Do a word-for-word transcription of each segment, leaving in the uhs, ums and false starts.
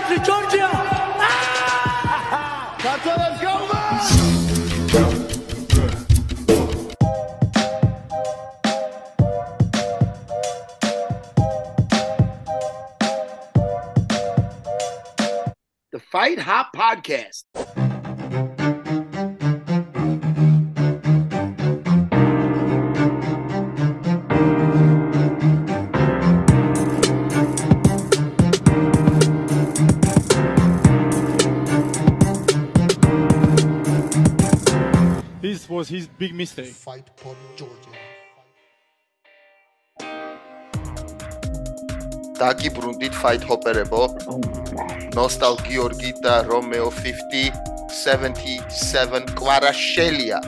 country, Georgia. That's what let's go, man. The Fight Hop Podcast. This was his big mistake. Fight for Georgia. Dagi Brundit fight hopperebo. Nostal Georgi da Romeo fifty seventy-seven Kvarashelia.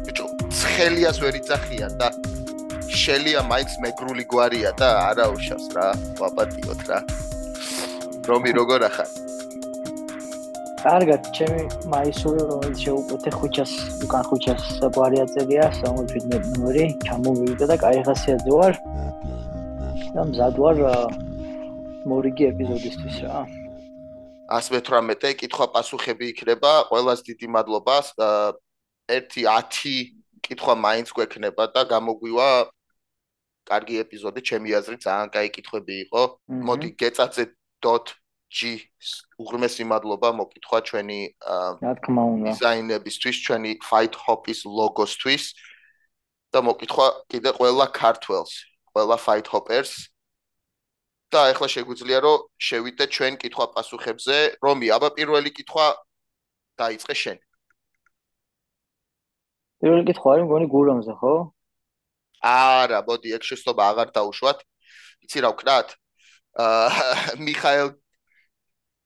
Bicho, ცხელიას ვერ იცახიან და შელია მაინც მეგრული გვარია და არა უშავს რა, ვაპატიოთ რა. რომი როგორ ახარ? კარგად, ჩემი მაისური რომელიც შეუკვეთე ხუჩას, უკან ხუჩას გვარი აწერია, სამოცდაშვიდმეტ ნომერი, ჩამოვივიდა და კაი ხასიათზე ვარ. და მზად ვარ მორიგი ეპიზოდისთვის რა. one eighteen კითხვა-პასუხები იქნება, ყველას დიდი მადლობა. ერთი ათი კითხვა მაინც გვექნება და გამოგვივა კარგი ეპიზოდი, ჩემი აზრით ძალიან კაი კითხვები იყო. მოდი გეწაწე.g უღრმესი მადლობა მოკითხვა ჩვენი რა თქმა უნდა დიზაინებისთვის, ჩვენი Fight Hop-ის ლოგოსთვის და მოკითხვა კიდე ყველა ქართველს, ყველა Fight Hoppers. და ეხლა შეგვიძლია რომ შევიდეთ ჩვენ კითხვა-პასუხებზე. რომი, აბა პირველი კითხვა დაიწყე შენ. პირველი კითხვა არის მგონი გურამზე, ხო? არა, მოდი, ეგ შეცდომა აღარ დაუშვათ. იცი რა ვკრათ? აა მიხაელ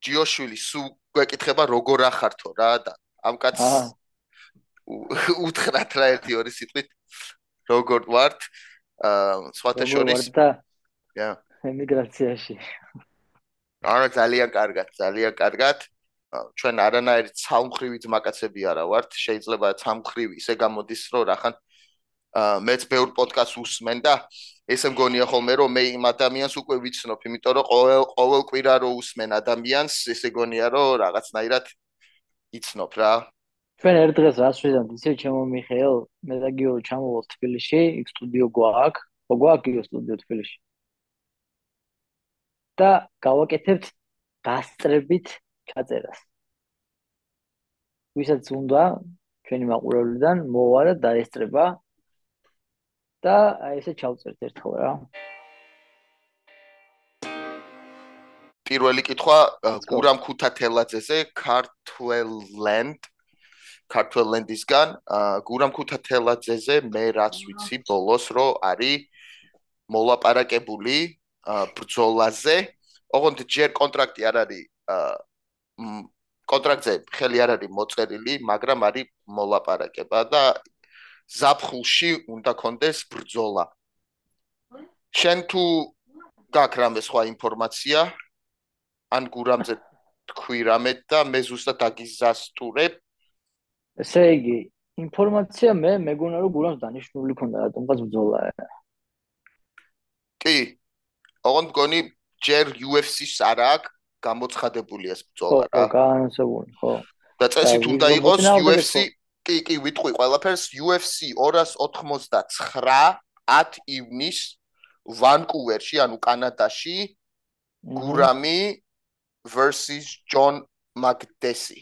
ჯიოშვილი სულ გვეკითხება როგორ ახართო რა და ამ კაცს უთხრათ რა ერთი ორი სიტყვით როგორ ვართ? აა სხვათა შორის და ემიგრაციაში. არა, ძალიან კარგად, ძალიან კარგად. ჩვენ არანაირი ცალმხრივი ძმაკაცები არა ვართ, შეიძლება ცალმხრივი ისე გამოდის რომ რახან მეც ბევრ პოდკასტს უსმენ და ესე მგონია ხოლმე რომ მე იმ ადამიანს უკვე ვიცნობ, იმიტომ რომ ყოველ ყოველ კვირა რო უსმენ ადამიანს, ესე გონია რომ რაღაცნაირად იცნობ რა. ჩვენ ერთ დღეს რას ვიზამთ, ისე ჩემო მიხეილ, მე და გიო ჩამოვალ თბილისში, იქ სტუდიო გვაქვს, გვაქვს გიო სტუდიო თბილისში. და გავაკეთებთ გასწრებით ჩაწერას. ვისაც უნდა ჩვენი მაყურებლიდან მოვა და დაესწრება და აი ესე ჩავწერთ ერთხელ რა. პირველი კითხვა გურამ ქუთათელაძეზე, ქართველლენდ, ქართველლენდისგან. გურამ ქუთათელაძეზე მე რაც ვიცი ბოლოს რომ არის მოლაპარაკებული ბრძოლაზე. ოღონდ ჯერ კონტრაქტი არ არის კონტრაქტზე ხელი არ არის მოწერილი, მაგრამ არის მოლაპარაკება და ზაფხულში უნდა კონდეს ბრძოლა. შენ თუ გაქვს რამე სხვა ინფორმაცია ან გურამზე თქვი რამე და მე ზუსტად დაგიზასტურებ. ესე იგი, ინფორმაცია მე მეგონა რომ გურამს დანიშნული ქონდა რატომღაც ბრძოლა. კი. ოღონდ მგონი ჯერ U F C-ს არ აქვს გამოცხადებული ეს ბრძოლა რა. ხო, განსაკუთრებით, ხო. და წესით უნდა იყოს U F C, კი, კი, ვიტყვი ყველაფერს U F C ორას ოთხმოცდაცხრა ათ ივნის ვანკუვერში, ანუ კანადაში, გურამი versus John Makdessi.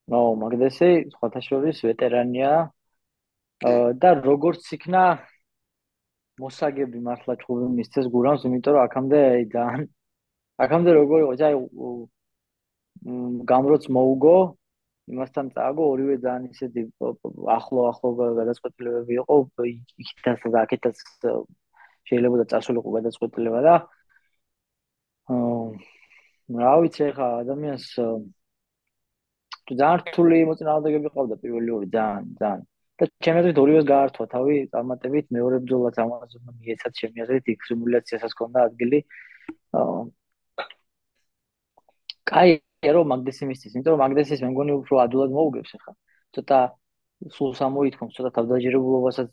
ნო, მაგდესი სხვათა შორის ვეტერანია და როგორც იქნა მოსაგები მართლა ჩხუბი მისცეს გურამს, იმიტომ რომ აქამდე ძალიან აქამდე როგორ იყო, აი გამროც მოუგო, იმასთან წააგო, ორივე ძალიან ისეთი ახლო ახლო გადაწყვეტილებები იყო, იქითაც და აქეთაც შეიძლება წასულიყო გადაწყვეტილება და აა რა ვიცი ხა ადამიანს ძალიან რთული მოწინააღმდეგეები ყავდა პირველი ორი ძალიან ძალიან და ჩემი აზრით ორივეს გაართვა თავი წარმატებით, მეორე ბრძოლაც ამაზე მიეცათ ჩემი აზრით იქ სიმულაციასაც ჰქონდა ადგილი. აა კაი რომ მაგდესი მისცეს, იმიტომ რომ მაგდესის მე მგონი უფრო ადულად მოუგებს ხა. ცოტა სულ სამოითქოს, ცოტა თავდაჯერებულობასაც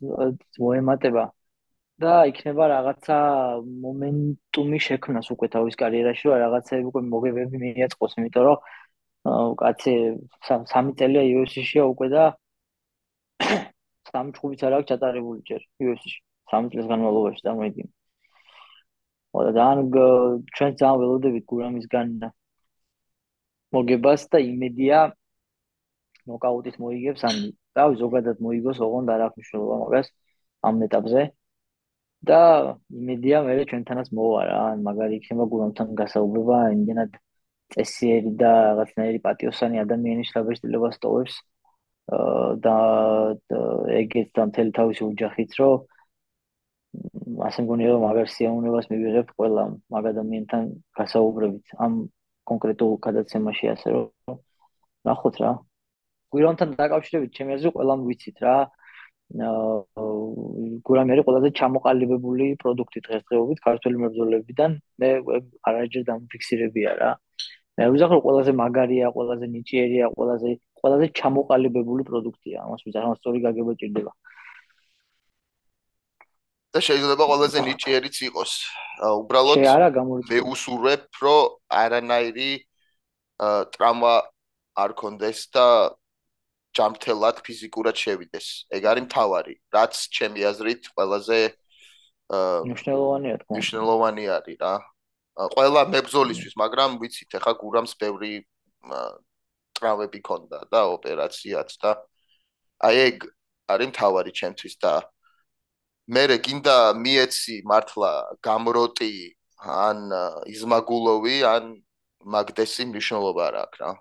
მოემატება. და იქნება რაღაცა მომენტუმი შექმნას უკვე თავის კარიერაში, რომ რაღაცები უკვე მოგებები მიაწყოს, იმიტომ რომ კაცი სამი წელია იუ ეფ სი-შია უკვე და სამი ჭუბიც არ აქვს ჩატარებული ჯერ იუ ეფ სი-ში. სამი წლის განმავლობაში წარმოიდგინე. და ძალიან ჩვენ ძალიან ველოდებით გურამისგან მოგებას და იმედია ნოკაუტით მოიგებს ან და ზოგადად მოიგოს, ოღონდ არ აქვს მნიშვნელობა მაგას ამ ეტაპზე. და იმედია მე ჩვენთანაც მოვა რა, ან მაგარი იქნება გურამთან გასაუბრება, იმდენად წესიერი და რაღაცნაირი პატიოსანი ადამიანი შთაბეჭდილებას ტოვებს და ეგეც და მთელი თავისი ოჯახით, რომ ასე მგონია რომ მაგარ სიამოვნებას მივიღებთ ყველა მაგ ადამიანთან გასაუბრებით ამ კონკრეტულ გადაცემაში, ასე რომ ნახოთ რა. გურამთან დაკავშირებით ჩემი აზრით ყველამ ვიცით რა. გურამი არის ყველაზე ჩამოყალიბებული პროდუქტი დღესდღეობით ქართველი მებრძოლებიდან. მე არაჯერ დამიფიქსირებია რა. მე ვიზახ რომ ყველაზე მაგარია, ყველაზე ნიჭიერია, ყველაზე ყველაზე ჩამოყალიბებული პროდუქტია. ამას ვიზახ, რომ სწორი გაგება ჭირდება. და შეიძლება ყველაზე ნიჭიერიც იყოს. უბრალოდ მე უსურვებ, რომ არანაირი ტრავმა არ კონდეს და ჯამრთელად ფიზიკურად შევიდეს. ეგ არის მთავარი, რაც ჩემი აზრით ყველაზე მნიშვნელოვანია თქო. მნიშვნელოვანი არის რა. ყველა მებრძოლისთვის, მაგრამ ვიცით, ახლა გურამს ბევრი ტრავმები ქონდა და ოპერაციაც და აი ეგ არის მთავარი ჩემთვის და მე გინდა მიეცი მართლა გამროტი ან იზმაგულოვი ან მაგდესი მნიშვნელობა არ აქვს რა.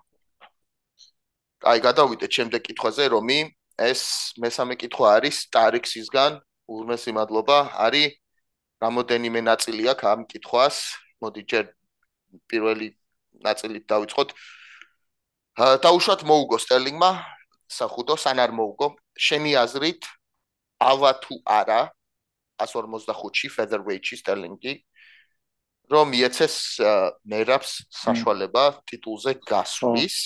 აი გადავიდეთ შემდეგ კითხვაზე, რომი ეს მესამე კითხვა არის ტარიქსისგან, ურმესი მადლობა, არის რამოდენიმე ნაწილი აქვს ამ კითხვას. მოდი ჯერ პირველი ნაწილით დავიწყოთ. დაუშვათ მოუგო სტერლინგმა სახუდო სან არ მოუგო. შენი აზრით ავა თუ არა one forty-five-ში featherweight-ში სტერლინგი რომ მიეცეს მერაბს საშუალება ტიტულზე გასვლის.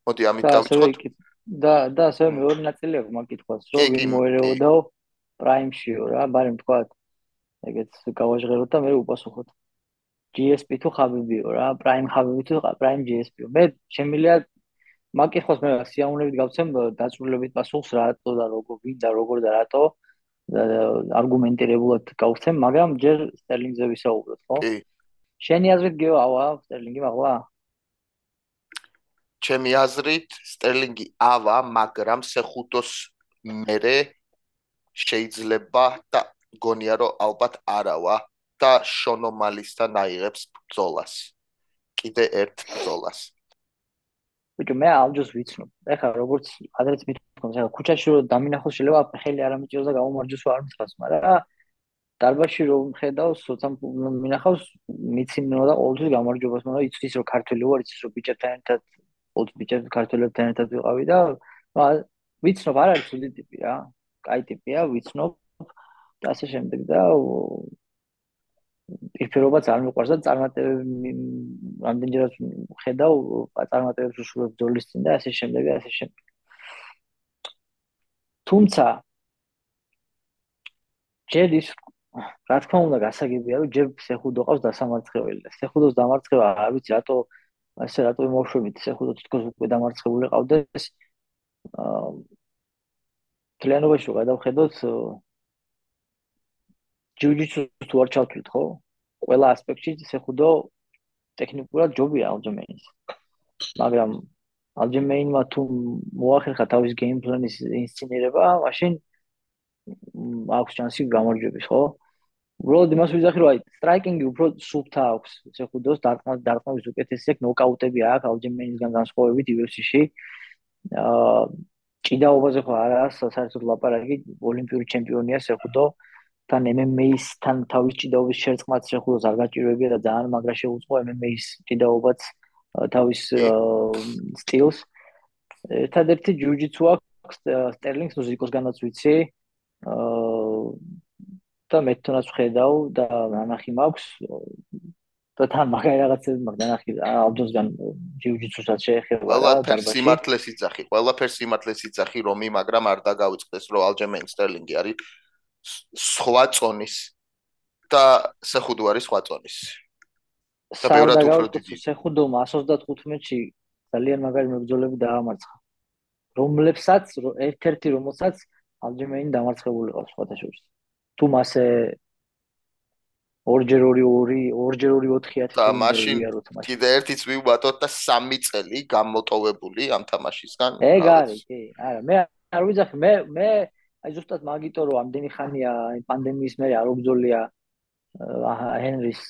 მოდი ამით დავიწყოთ. და და ასე მეორე ნაწილი აქვს მაგ კითხვას, რომ ვინ მოერეოდაო პრაიმშიო რა, ბარემ თქვა. ეგეც გავაჟღეროთ და მე უპასუხოთ. ჯი ეს პი თუ ხაბიბიო რა, პრაიმ ხაბიბი თუ პრაიმ ჯი ეს პი-ო. მე შემიძლია მაგ კითხვას მე სიამოვნებით გავცემ დაწვრილებით პასუხს რატო და როგორ ვინ და როგორ და რატო არგუმენტირებულად გავცემ, მაგრამ ჯერ სტერლინგზე ვისაუბროთ, ხო? კი. შენი აზრით გეო ავა სტერლინგი მაღლა? ჩემი აზრით სტერლინგი ავა, მაგრამ სეხუთოს მერე შეიძლება და გონია რომ ალბათ არავა და შონომალისთან აიღებს ბრძოლას. კიდე ერთ ბრძოლას. ბიჭო მე ალჯოს ვიცნობ. ეხლა როგორც ადრეც მithქვამს, ეხლა ქუჩაში რომ დამინახოს შეიძლება ხელი არ ამიჭიროს და გამომარჯოს არ მithავს, მაგრამ დარბაზში რომ ხედავს, სოცა მინახავს, მიცინო და ყოველთვის გამარჯვებას, მაგრამ იცის რომ ქართველი ვარ, იცის რომ ბიჭებთან ერთად, ყოველთვის ბიჭებს ქართველებთან ერთად ვიყავი და ვიცნობ არ არის ცუდი ტიპი რა. კაი ტიპია, ვიცნობ და ასე შემდეგ და პირფერობაც არ მიყვარს და წარმატებები რამდენჯერაც ხედავ წარმატებებს უშურებ ბრძოლის წინ და ასე შემდეგ და ასე შემდეგ. თუმცა ჯერ ის რა თქმა უნდა გასაგებია რომ ჯერ სეხუდო ყავს დასამარცხებელი და სეხუდოს დამარცხება არ ვიცი რატო ასე რატო იმოშვებით სეხუდო თითქოს უკვე დამარცხებული ყავდეს აა კლიანობაში რომ გადავხედოთ ჯიუ-ჯიტსუს თუ არ ჩავთვლით, ხო? ყველა ასპექტში სეხუდო ტექნიკურად ჯობია ალჯემეინის. მაგრამ ალჯემეინმა თუ მოახერხა თავის გეიმ პლანის ინსცენირება, მაშინ აქვს შანსი გამარჯვების, ხო? უბრალოდ იმას ვიზახი, რომ აი სტრაიკინგი უფრო სუფთა აქვს სეხუდოს, დარტყმას დარტყმების უკეთესი აქვს, ნოკაუტები აქვს ალჯემეინისგან განსხვავებით იუ ეფ სი-ში. აა ჭიდაობაზე ხო არა საერთოდ ლაპარაკი, ოლიმპიური ჩემპიონია სეხუდო. თან em em a-სთან თავის ჭიდაობის შერწყმაც შეხუდოს არ გაჭირვებია და ძალიან მაგრა შეუწყო em em a-ის ჭიდაობაც თავის სტილს. ერთადერთი ჯიუ-ჯიტსუ აქვს სტერლინგს მუსიკოსგანაც ვიცი. და მე თვითონაც ვხედავ და ნანახი მაქვს და თან მაგარი რაღაცები მაქვს ნანახი ალჯოსგან ჯიუ-ჯიტსუსაც შეეხება. ყველაფერს სიმართლეს იცახი, ყველაფერს სიმართლეს იცახი რომი, მაგრამ არ დაგავიწყდეს რომ ალჯემეინ სტერლინგი არის სხვა წონის და სეხუდვარი სხვა წონის. და სარ ბევრად უფრო დაგავიწყოთ დიდი. სეხუდომ εκατს ოცდათხუთმეტში ძალიან მაგარი მებრძოლები დაამარცხა. რომლებსაც ერთ-ერთი რომელსაც ალჯემეინი დამარცხებული ყავს სხვათა შორის. თუ მასე ორჯერ ორი ორი, ორჯერ ორი ოთხი ათი და თუ მაშინ ვიაროთ მაშინ. კიდე ერთიც ვივატოთ და სამი წელი გამოტოვებული ამ თამაშისგან. ეგ არის, კი. არა, მე არ ვიძახი, მე მე აი ზუსტად მაგიტო რომ ამდენი ხანია პანდემიის მერე არ უბძოლია ჰენრის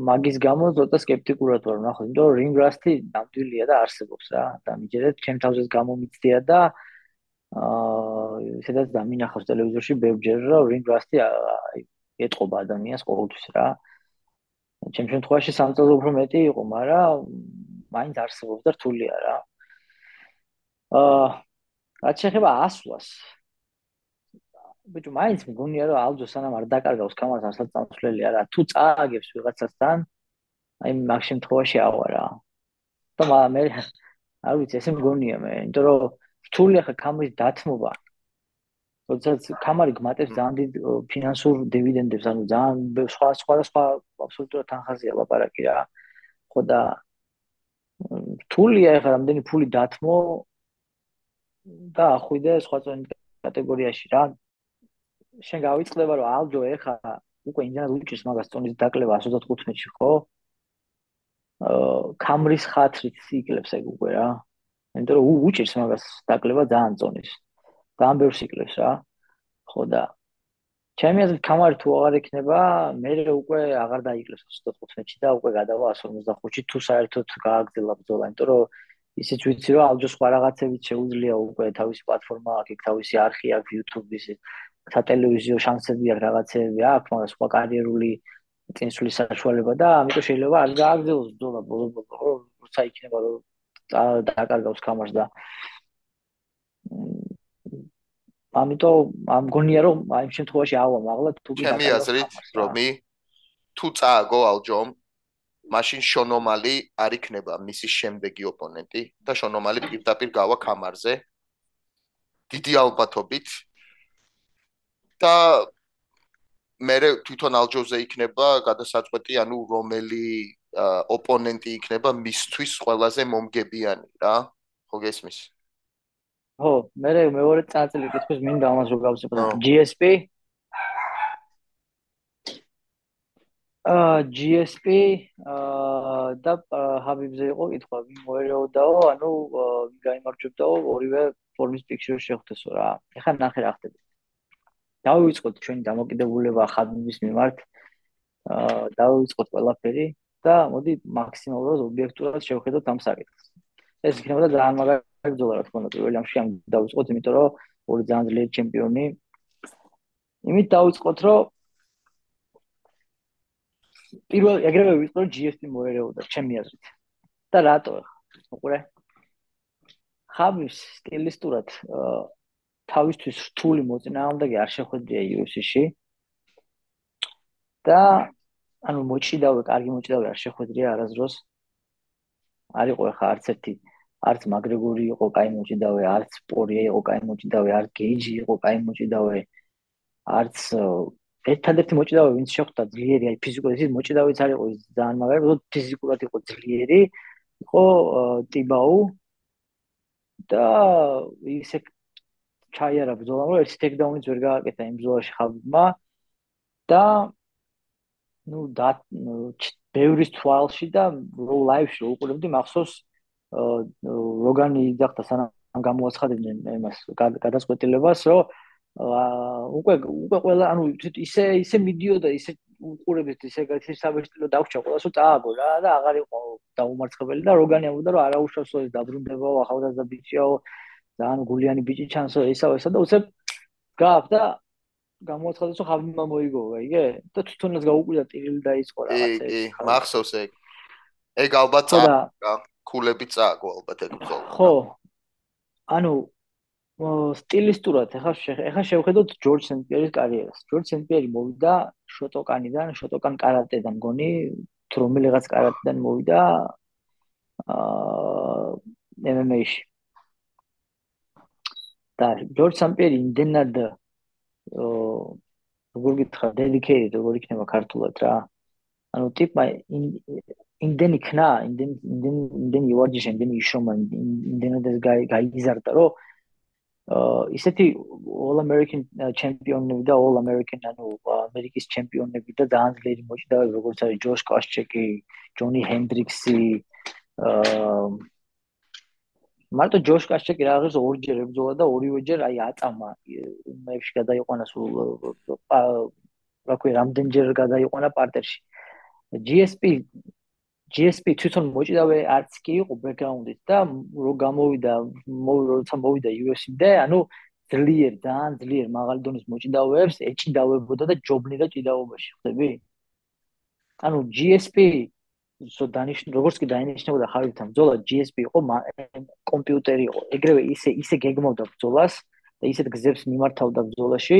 მაგის გამო ზოთა სკეპტიკურად ვარ ნახოთ, იმიტომ რომ რინგ რასტი ნამდვილია და არსებობს რა. და მიჯერეთ ჩემ თავზეც გამომიცდია და აა სადაც დამინახავს ტელევიზორში ბევრჯერ რომ რინგ რასტი ეტყობა ადამიანს ყოველთვის რა. ჩემ შემთხვევაში სამ წელზე უფრო მეტი იყო, მაგრამ მაინც არსებობს და რთულია რა. აა რაც შეეხება ასვლას ბიჭო, მაინც მგონია რომ ალჯო სანამ არ დაკარგავს კამარას არსაც წამსვლელი არა. თუ წააგებს ვიღაცასთან, აი მაგ შემთხვევაში ავა რა. და მე არ ვიცი, ესე მგონია მე, იმიტომ რომ რთული ახლა კამარის დათმობა. როდესაც კამარი გმატებს ძალიან დიდ ფინანსურ დივიდენდებს, ანუ ძალიან სხვა სხვა და სხვა აბსოლუტურად თანხაზია ლაპარაკი რა. ხო და რთულია ახლა რამდენი ფული დათმო და ახვიდე სხვა წონის კატეგორიაში რა. შენ გავიწყდება რომ ალჯო ეხა უკვე იმდენად უჭირს მაგას წონის დაკლება εκατს ოცდათხუთმეტში ხო? აა კამრის ხათრით იკლებს ეგ უკვე რა. იმიტომ რომ უჭირს მაგას დაკლება ძალიან წონის. ძალიან ბევრს იკლებს რა. ხო და ჩემი აზრით კამარი თუ აღარ იქნება, მე უკვე აღარ დაიკლებს εκατს ოცდათხუთმეტში და უკვე გადავა εκατს ორმოცდახუთში თუ საერთოდ გააგრძელა ბრძოლა, იმიტომ რომ ისიც ვიცი რომ ალჯო სხვა რაღაცებით შეუძლია უკვე თავისი პლატფორმა აქვს, თავისი არხი აქვს YouTube-ის სატელევიზიო შანსები აქვს, რაღაცები აქვს, მაგრამ სხვა კარიერული წინსვლის საშუალება და ამიტომ შეიძლება არ გააგრძელოს ბრძოლა ბოლო-ბოლო, როცა იქნება რომ დააკარგავს კამარს და ამიტომ ამგონია რომ აი ამ შემთხვევაში ავა მაღლა თუ ჩემი აზრით რომი თუ წააგო ალჯომ მაშინ შონომალი არ იქნება მისი შემდეგი ოპონენტი და შონომალი პირდაპირ გავა კამარზე დიდი ალბათობით და მე თვითონ ალჯოზე იქნება გადასაწყვეტი, ანუ რომელი ოპონენტი იქნება მისთვის ყველაზე მომგებიანი რა. ხო გესმის? ხო, მე მეორე წაწილი კითხვის მინდა ამას რო გავსწრებ. ჯი ეს პი აა ჯი ეს პი აა და ჰაბიბზე იყო კითხვა, ვინ მოერეოდაო, ანუ ვინ გაიმარჯვებდაო ორივე ფორმის პიქჩურში შეხვდესო რა. ეხლა ნახე რა ხდება. დავივიწყოთ ჩვენი დამოკიდებულება ხაბიბის მიმართ. აა დავივიწყოთ ყველაფერი და მოდი მაქსიმალურად ობიექტურად შევხედოთ ამ საკითხს. ეს იქნება ძალიან მაგარი ბრძოლა რა თქმა უნდა პირველ რიგში ამ დავიწყოთ, იმიტომ რომ ორი ძალიან ძლიერი ჩემპიონი. იმით დავიწყოთ, რომ პირველ ეგრევე ვიწყო რომ ჯი ეს პი მოერეოდა ჩემი აზრით. და რატო ახლა? უყურე. ხაბიბს სტილისტურად თავისთვის რთული მოწინააღმდეგე არ შეხვედრია იუ ეფ სი-ში. და ანუ მოჭიდავე, კარგი მოჭიდავე არ შეხვედრია არასდროს. არ იყო ახლა არც ერთი, არც მაგრეგორი იყო კაი მოჭიდავე, არც პორია იყო კაი მოჭიდავე, არც გეიჯი იყო კაი მოჭიდავე, არც ერთადერთი მოჭიდავე ვინც შეხვდა ძლიერი, აი ფიზიკურად ის მოჭიდავეც არ იყო ის ძალიან მაგარი, უბრალოდ ფიზიკურად იყო ძლიერი, იყო ტიბაუ და ისე ჩაიარა ბრძოლა, რომ ერთი ტექდაუნიც ვერ გააკეთა იმ ბრძოლაში ხაბიბმა და ну да ბევრის თვალში და რო ლაივში უყურებდი მახსოვს როგანი იძახდა სანამ გამოაცხადებდნენ იმას გადაწყვეტილებას რომ უკვე უკვე ყველა ანუ ისე ისე მიდიოდა ისე უყურებთ ისე გათირსაბეჭდილო დავრჩა ყველას რომ წააგო რა და აღარ იყო დაუმარცხებელი და როგანი ამბობდა რომ არაუშავსო ეს დაბრუნდებაო ახალგაზრდა ბიჭიაო ძალიან გულიანი ბიჭი ჩანსო ესაო ესა და უცებ გააფ და გამოაცხადეს რომ ხაბიბმა მოიგოვა, იგე? და თვითონაც გაუკვირდა ტირილი დაიწყო რაღაცა. კი, კი, მახსოვს ეგ. ეგ ალბათ წააგო, ქულები წააგო ალბათ ეგ ბრძოლა. ხო. ანუ სტილისტურად ეხლა ეხლა შევხედოთ ჯორჯ სენტ-პიერის კარიერას. ჯორჯ სენტ-პიერი მოვიდა შოტოკანიდან, შოტოკან კარატედან მგონი, თუ რომელიღაც კარატედან მოვიდა აა ემ ემ ეი-ში. და ჯორჯ სენტ-პიერი იმდენად როგორ გითხრა, dedicated როგორ იქნება ქართულად რა. ანუ ტიპმა იმდენი ქნა, იმდენი იმდენი იმდენი იوارჯიშა, იმდენი იშრომა, იმდენად გაიგიზარდა, რომ ისეთი all American ჩემპიონები და all American ანუ ამერიკის ჩემპიონები და ძალიან ძლიერი მოჭიდავეები, როგორც არის ჯოშ კოშჩეკი, ჯონი ჰენდრიქსი, აა მარტო ჯოშ კოშჩეკი რაღაც ორჯერ ებრძოლა და ორივეჯერ აი აწამა მეებში გადაიყვანა სულ რა ქვია, რამდენჯერ გადაიყვანა პარტერში. G S P G S P თვითონ მოჭიდავე არც კი იყო ბექგრაუნდით და რო გამოვიდა, როცა მოვიდა U F C-მდე, ანუ ძლიერ, ძალიან ძლიერ მაღალი დონის მოჭიდავეებს ეჭიდავებოდა და ჯობნიდა ჭიდაობაში, ხდები? ანუ G S P so დანიშნ როგორც კი დაინიშნებოდა ხარჯთან ბრძოლა, G S P იყო კომპიუტერი იყო. ეგრევე ისე ისე გეგმავდა ბრძოლას და ისეთ გზებს მიმართავდა ბრძოლაში,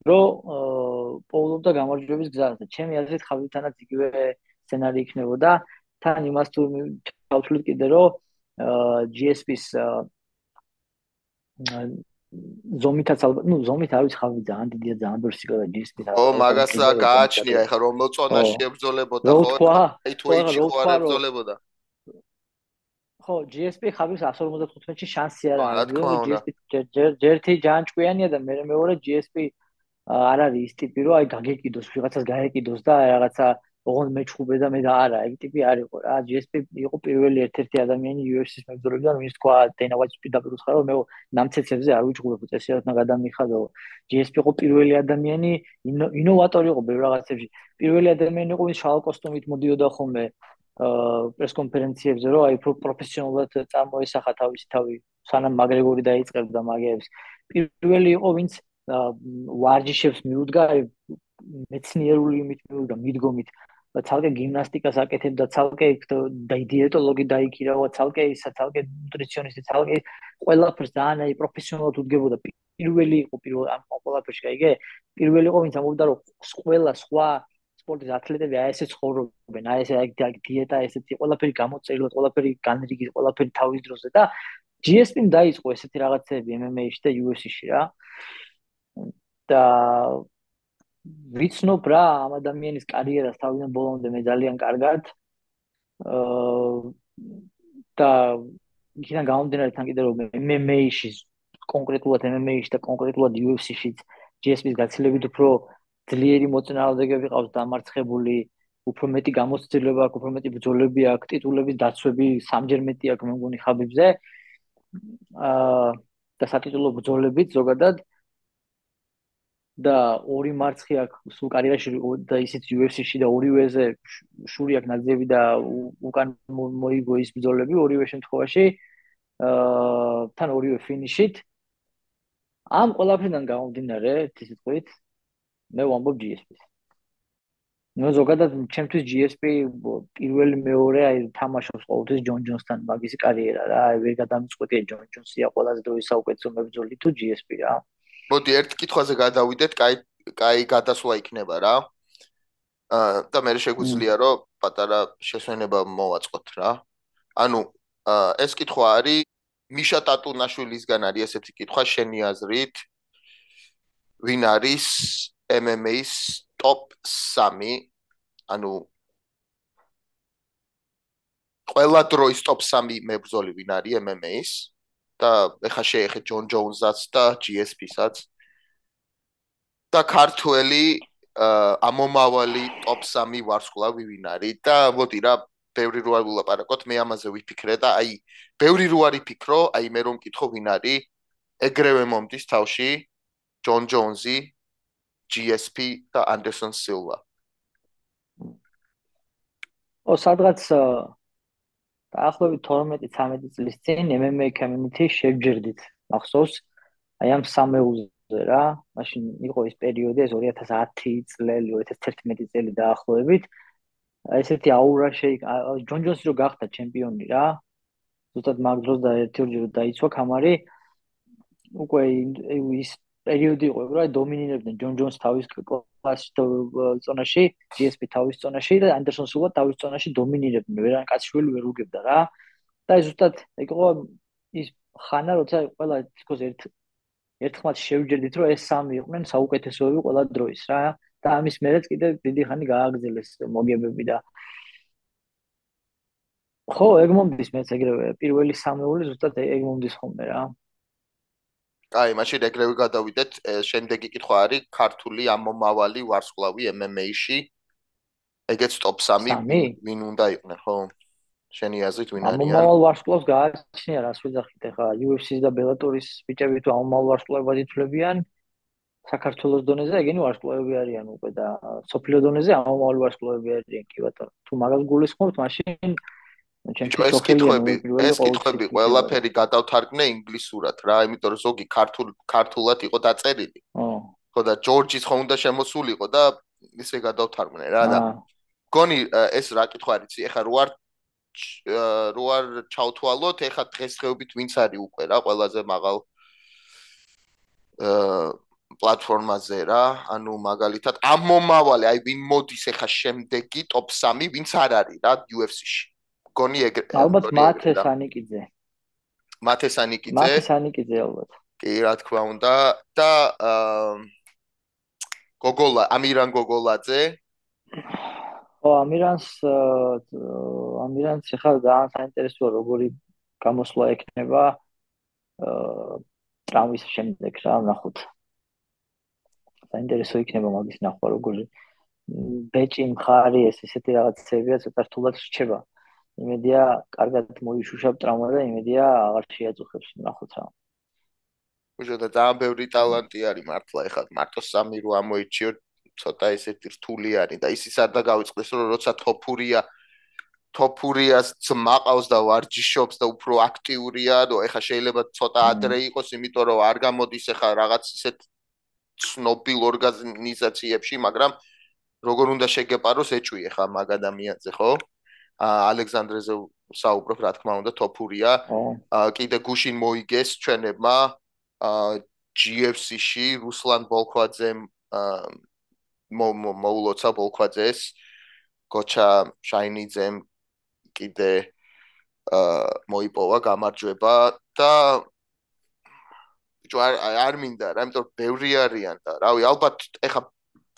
რომ პოულობდა გამარჯვების გზას და ჩემი აზრით ხარჯთანაც იგივე სცენარი იქნებოდა. თან იმას თუ დავთვლით კიდე, რომ G S P-ს ზომითაც ალბათ, ну ზომით არ ვიცი, ხავი ძალიან დიდია, ძალიან ბევრი სიკლა G S P-ს. ო, მაგას რა გააჩნია, ეხლა რომელ წონაში ებრძოლებოდა, ხო? აი თუ ეჭი ხო არ ებრძოლებოდა. ხო, G S P ხავის εκατს ორმოცდათხუთმეტში შანსი არ არის. G S P ჯერთი ჯანჭკვიანია და მე მეორე G S P არ არის ის ტიპი, რომ აი გაგეკიდოს, ვიღაცას გაეკიდოს და რაღაცა ოღონდ მეჩხუბე და მე და არა, ეგ ტიპი არ იყო რა. G S P იყო პირველი ერთ-ერთი ადამიანი U F C-ს მებრძოლებიდან, ვინც თქვა Dana White-ს პირდაპირ უცხარა, რომ მე ნამცეცებზე არ ვიჩხუბებ, წესიათნა გადამიხადო. G S P იყო პირველი ადამიანი, ინოვატორი იყო ბევრ რაღაცებში. პირველი ადამიანი იყო, ვინც შავ კოსტუმით მოდიოდა ხოლმე პრეს კონფერენციებზე, რომ აი პროფესიონალურად წარმოესახა თავისი თავი, სანამ მაგრეგორი დაიწყებდა მაგებს. პირველი იყო, ვინც ვარჯიშებს მიუდგა მეცნიერული იმით მიუდგა მიდგომით. ცალკე გიმნასტიკას აკეთებდა, ცალკე დიეტოლოგი დაიქირავა, ცალკე ისა, ცალკე ნუტრიციონისტი, ცალკე ყველაფერს ძალიან აი პროფესიონალურად უდგებოდა. პირველი იყო პირველ ამ ყველაფერში, გაიგე? პირველი იყო, ვინც ამბობდა, რომ ყველა სხვა სპორტის ათლეტები აი ესე ცხოვრობენ, აი ესე აი დიეტა, ესეთი ყველაფერი გამოწერილად, ყველაფერი განრიგით, ყველაფერი თავის დროზე და G S P-მ დაიწყო ესეთი რაღაცები M M A-ში და U F C-ში რა. და ვიცნობ რა ამ ადამიანის კარიერას თავიდან ბოლომდე მე ძალიან კარგად. აა და იქიდან გამომდინარე თან კიდე რომ M M A-ში კონკრეტულად M M A-ში და კონკრეტულად U F C-ში G S P-ს გაცილებით უფრო ძლიერი მოწინააღმდეგეები ყავს დამარცხებული, უფრო მეტი გამოცდილება აქვს, უფრო მეტი ბრძოლები აქვს, ტიტულების დაცვები სამჯერ მეტი აქვს მე მგონი ხაბიბზე. აა და სატიტულო ბრძოლებიც ზოგადად და ორი მარცხი აქვს სულ კარიერაში და ისიც U F C-ში და ორივეზე შური აქვს ნაძიები და უკან მოიგო ის ბრძოლები ორივე შემთხვევაში. აა თან ორივე ფინიშით. ამ ყველაფერიდან გამომდინარე, ისე თქვით, მე ვამბობ G S P-ს. ნუ ზოგადად ჩემთვის G S P პირველი მეორე აი თამაშობს ყოველთვის ჯონ ჯონსთან მაგისი კარიერა რა. აი ვერ გადამწყვეტია ჯონ ჯონსია ყველაზე დროის საუკეთესო მებრძოლი თუ G S P რა. მოდი ერთ კითხვაზე გადავიდეთ, კაი კაი გადასვლა იქნება რა. აა და მე შეგვიძლია რომ პატარა შესვენება მოვაწყოთ რა. ანუ ეს კითხვა არის მიშა ტატუნაშვილისგან არის ესეთი კითხვა შენი აზრით. ვინ არის M M A-ის top სამი? ანუ ყველა დროის top სამი მებრძოლი ვინ არის M M A-ის? და ეხა შეეხეთ ჯონ ჯოუნსსაც და G S P-საც და ქართველი ამომავალი top სამი ვარსკვლავი ვინ არის და მოდი რა ბევრი რო არ ვილაპარაკოთ მე ამაზე ვიფიქრე და აი ბევრი რო არ იფიქრო აი მე რომ მკითხო ვინ არის ეგრევე მომდის თავში ჯონ ჯოუნსი G S P და Anderson Silva ო სადღაც დაახლოებით თორმეტი ცხრამეტი წლის წინ M M A community შევჯერდით მახსოვს აი ამ სამეულზე რა მაშინ იყო ის პერიოდი ეს ორი ათას ათი წელი ორი ათას თერთმეტი წელი დაახლოებით აი ესეთი აურა შეიკ ჯონ ჯონსი რო გახდა ჩემპიონი რა ზუსტად მაგ დროს და ერთი ორჯერ დაიცვა კამარი უკვე ის პერიოდი იყო რა დომინირებდნენ ჯონ ჯონს თავის კლასში ზონაში G S P თავის ზონაში და Anderson Silva თავის ზონაში დომინირებდნენ ვერან კაცშვილი ვერ უგებდა რა და ზუსტად იყო ის ხანა როცა ყველა თქოს ერთ ერთხმად შევჯერდით, რომ ეს სამი იყვნენ საუკეთესოები ყველა დროის რა და ამის მერეც კიდე დიდი ხანი გააგრძელეს მოგებები და ხო, ეგ მომდის მეც ეგრევე პირველი სამეული ზუსტად ეგ მომდის ხოლმე რა. აი, მაშინ ეგრევე გადავიდეთ. შემდეგი კითხვა არის ქართული ამომავალი ვარსკვლავი ემ ემ ეი-ში. ეგეც ტოპ სამი ვინ უნდა იყვნენ, ხო? შენი აზრით ვინ არიან? ამომავალ ვარსკვლავს გააჩნია რას ვეძახით ახლა იუ ეფ სი-ს და ბელატორის ბიჭები თუ ამომავალ ვარსკვლავებად ითვლებიან საქართველოს დონეზე ეგენი ვარსკვლავები არიან უკვე და სოფლიო დონეზე ამომავალი ვარსკვლავები არიან კი ბატონო. თუ მაგას გულისხმობთ, მაშინ ეს კითხვები, ეს კითხვები ყველაფერი გადავთარგმნე ინგლისურად რა, იმიტომ რომ ზოგი ქართულ ქართულად იყო დაწერილი. ხო და ჯორჯის ხო უნდა შემოსულიყო და ისე გადავთარგმნე რა და გონი ეს რა კითხვა არის, ეხლა რო არ რო არ ჩავთვალოთ, ეხლა დღესდღეობით ვინც არის უკვე რა, ყველაზე მაღალ აა პლატფორმაზე რა, ანუ მაგალითად ამ მომავალი, აი ვინ მოდის ეხლა შემდეგი ტოპ სამი, ვინც არ არის რა იუ ეფ სი-ში. გონი ეგრე. ალბათ მათეს ანიკიძე. მათეს ანიკიძე. მათეს ანიკიძე ალბათ. კი, რა თქმა უნდა და გოგოლა, ამირან გოგოლაძე. ხო, ამირანს ამირანს ახლა ძალიან საინტერესოა როგორი გამოსვლა ექნება აა ტრამვის შემდეგ რა, ნახოთ. საინტერესო იქნება მაგის ნახვა როგორი ბეჭი მხარი ეს ესეთი რაღაცებია ცოტა რთულად რჩება. იმედია კარგად მოიშუშავ ტრამვა და იმედია აღარ შეაწუხებს ნახოთ რა. უშო და ძალიან ბევრი ტალანტი არის მართლა ეხლა მარტო სამი რო ამოიჩიო ცოტა ესეთი რთული არის და ისიც არ და გავიწყდეს რომ როცა თოფურია თოფურიას ძმაყავს და ვარჯიშობს და უფრო აქტიურია და ეხლა შეიძლება ცოტა ადრე იყოს იმიტომ რომ არ გამოდის ეხლა რაღაც ისეთ ცნობილ ორგანიზაციებში მაგრამ როგორ უნდა შეგეპაროს ეჭვი ეხლა მაგ ადამიანზე ხო ალექსანდრეზე საუბრობ რა თქმა უნდა თოფურია კიდე გუშინ მოიგეს ჩვენებმა ჯი ეფ სი-ში რუსლან ბოლქვაძემ მოულოცა ბოლქვაძეს გოჩა შაინიძემ კიდე მოიპოვა გამარჯვება და ბიჭო არ მინდა რა იმიტომ ბევრი არიან და რავი ალბათ ეხა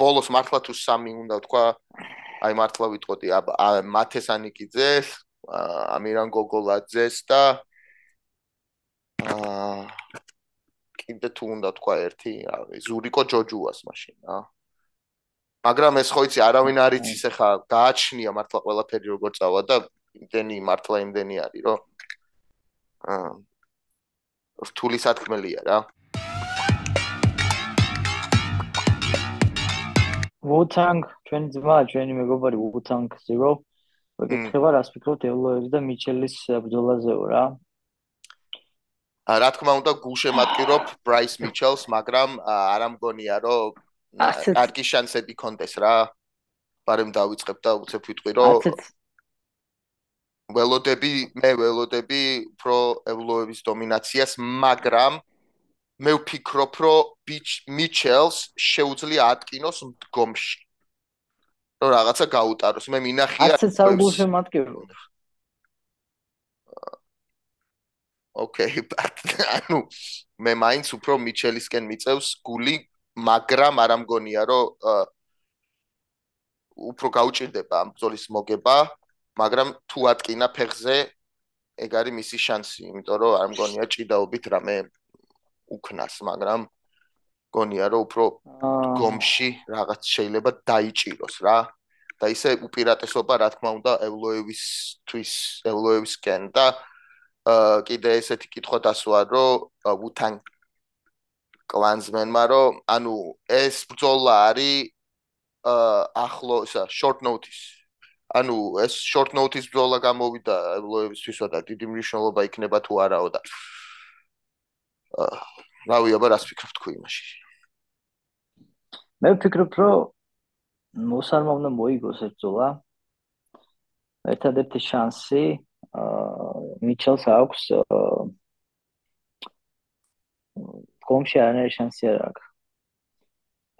ბოლოს მართლა თუ სამი უნდა თქვა აი მართლა ვიტყოდი მათეს ანიკიძეს ამირან გოგოლაძეს და აა კიდე თუ უნდა თქვა ერთი ზურიკო ჯოჯუას მაშინ რა მაგრამ ეს ხო იცი არავინ არ იცის ახლა გააჩნია მართლა ყველაფერი როგორ წავა და იმდენი მართლა იმდენი არის რომ აა რთული სათქმელია რა Wu-Tang ჩვენი ძმა ჩვენი მეგობარი Wu-Tang Zero ვეკითხება რას ფიქრობთ ელოების და მიჩელის ბრძოლაზეო რა რა თქმა უნდა გულშემატკივრობ ბრაის მიჩელს მაგრამ არ ამგონია რომ კარგი შანსები კონდეს რა ბარემ დავიწყებ და უცებ ვიტყვი რომ ველოდები მე ველოდები უფრო ელოების დომინაციას მაგრამ მე ვფიქრობ რომ მიჩელს შეუძლია ატკინოს მდგომში რომ რაღაცა გაუტაროს მე მინახია არც არ გულშემატკივრობ Okay, ანუ მე მაინც უფრო მიჩელისკენ მიწევს გული, მაგრამ არ ამგონია რომ უფრო გაუჭირდება ამ ბრძოლის მოგება, მაგრამ თუ ატკინა ფეხზე, ეგ არის მისი შანსი, იმიტომ რომ არ მგონია ჭიდაობით რამე უკნას, მაგრამ მგონია რომ უფრო გომში რაღაც შეიძლება დაიჭიროს რა. და ისე უპირატესობა რა თქმა უნდა ელოევისთვის, ელოევისკენ და აა კიდე ესეთი კითხვა დასვა რომ Wu-Tang კლანსმენმა რომ ანუ ეს ბრძოლა არის აა ახლო ისა short notice ანუ ეს short notice ბრძოლა გამოვიდა ელოევისთვისა და დიდი მნიშვნელობა იქნება თუ არაო და აა რავი აბა რას ფიქრობ თქვი იმაში მე ვფიქრობ რომ მოსარმა უნდა მოიგოს ეს ბრძოლა ერთადერთი შანსი მიჩელს აქვს კომში არანაირი შანსი არ აქვს.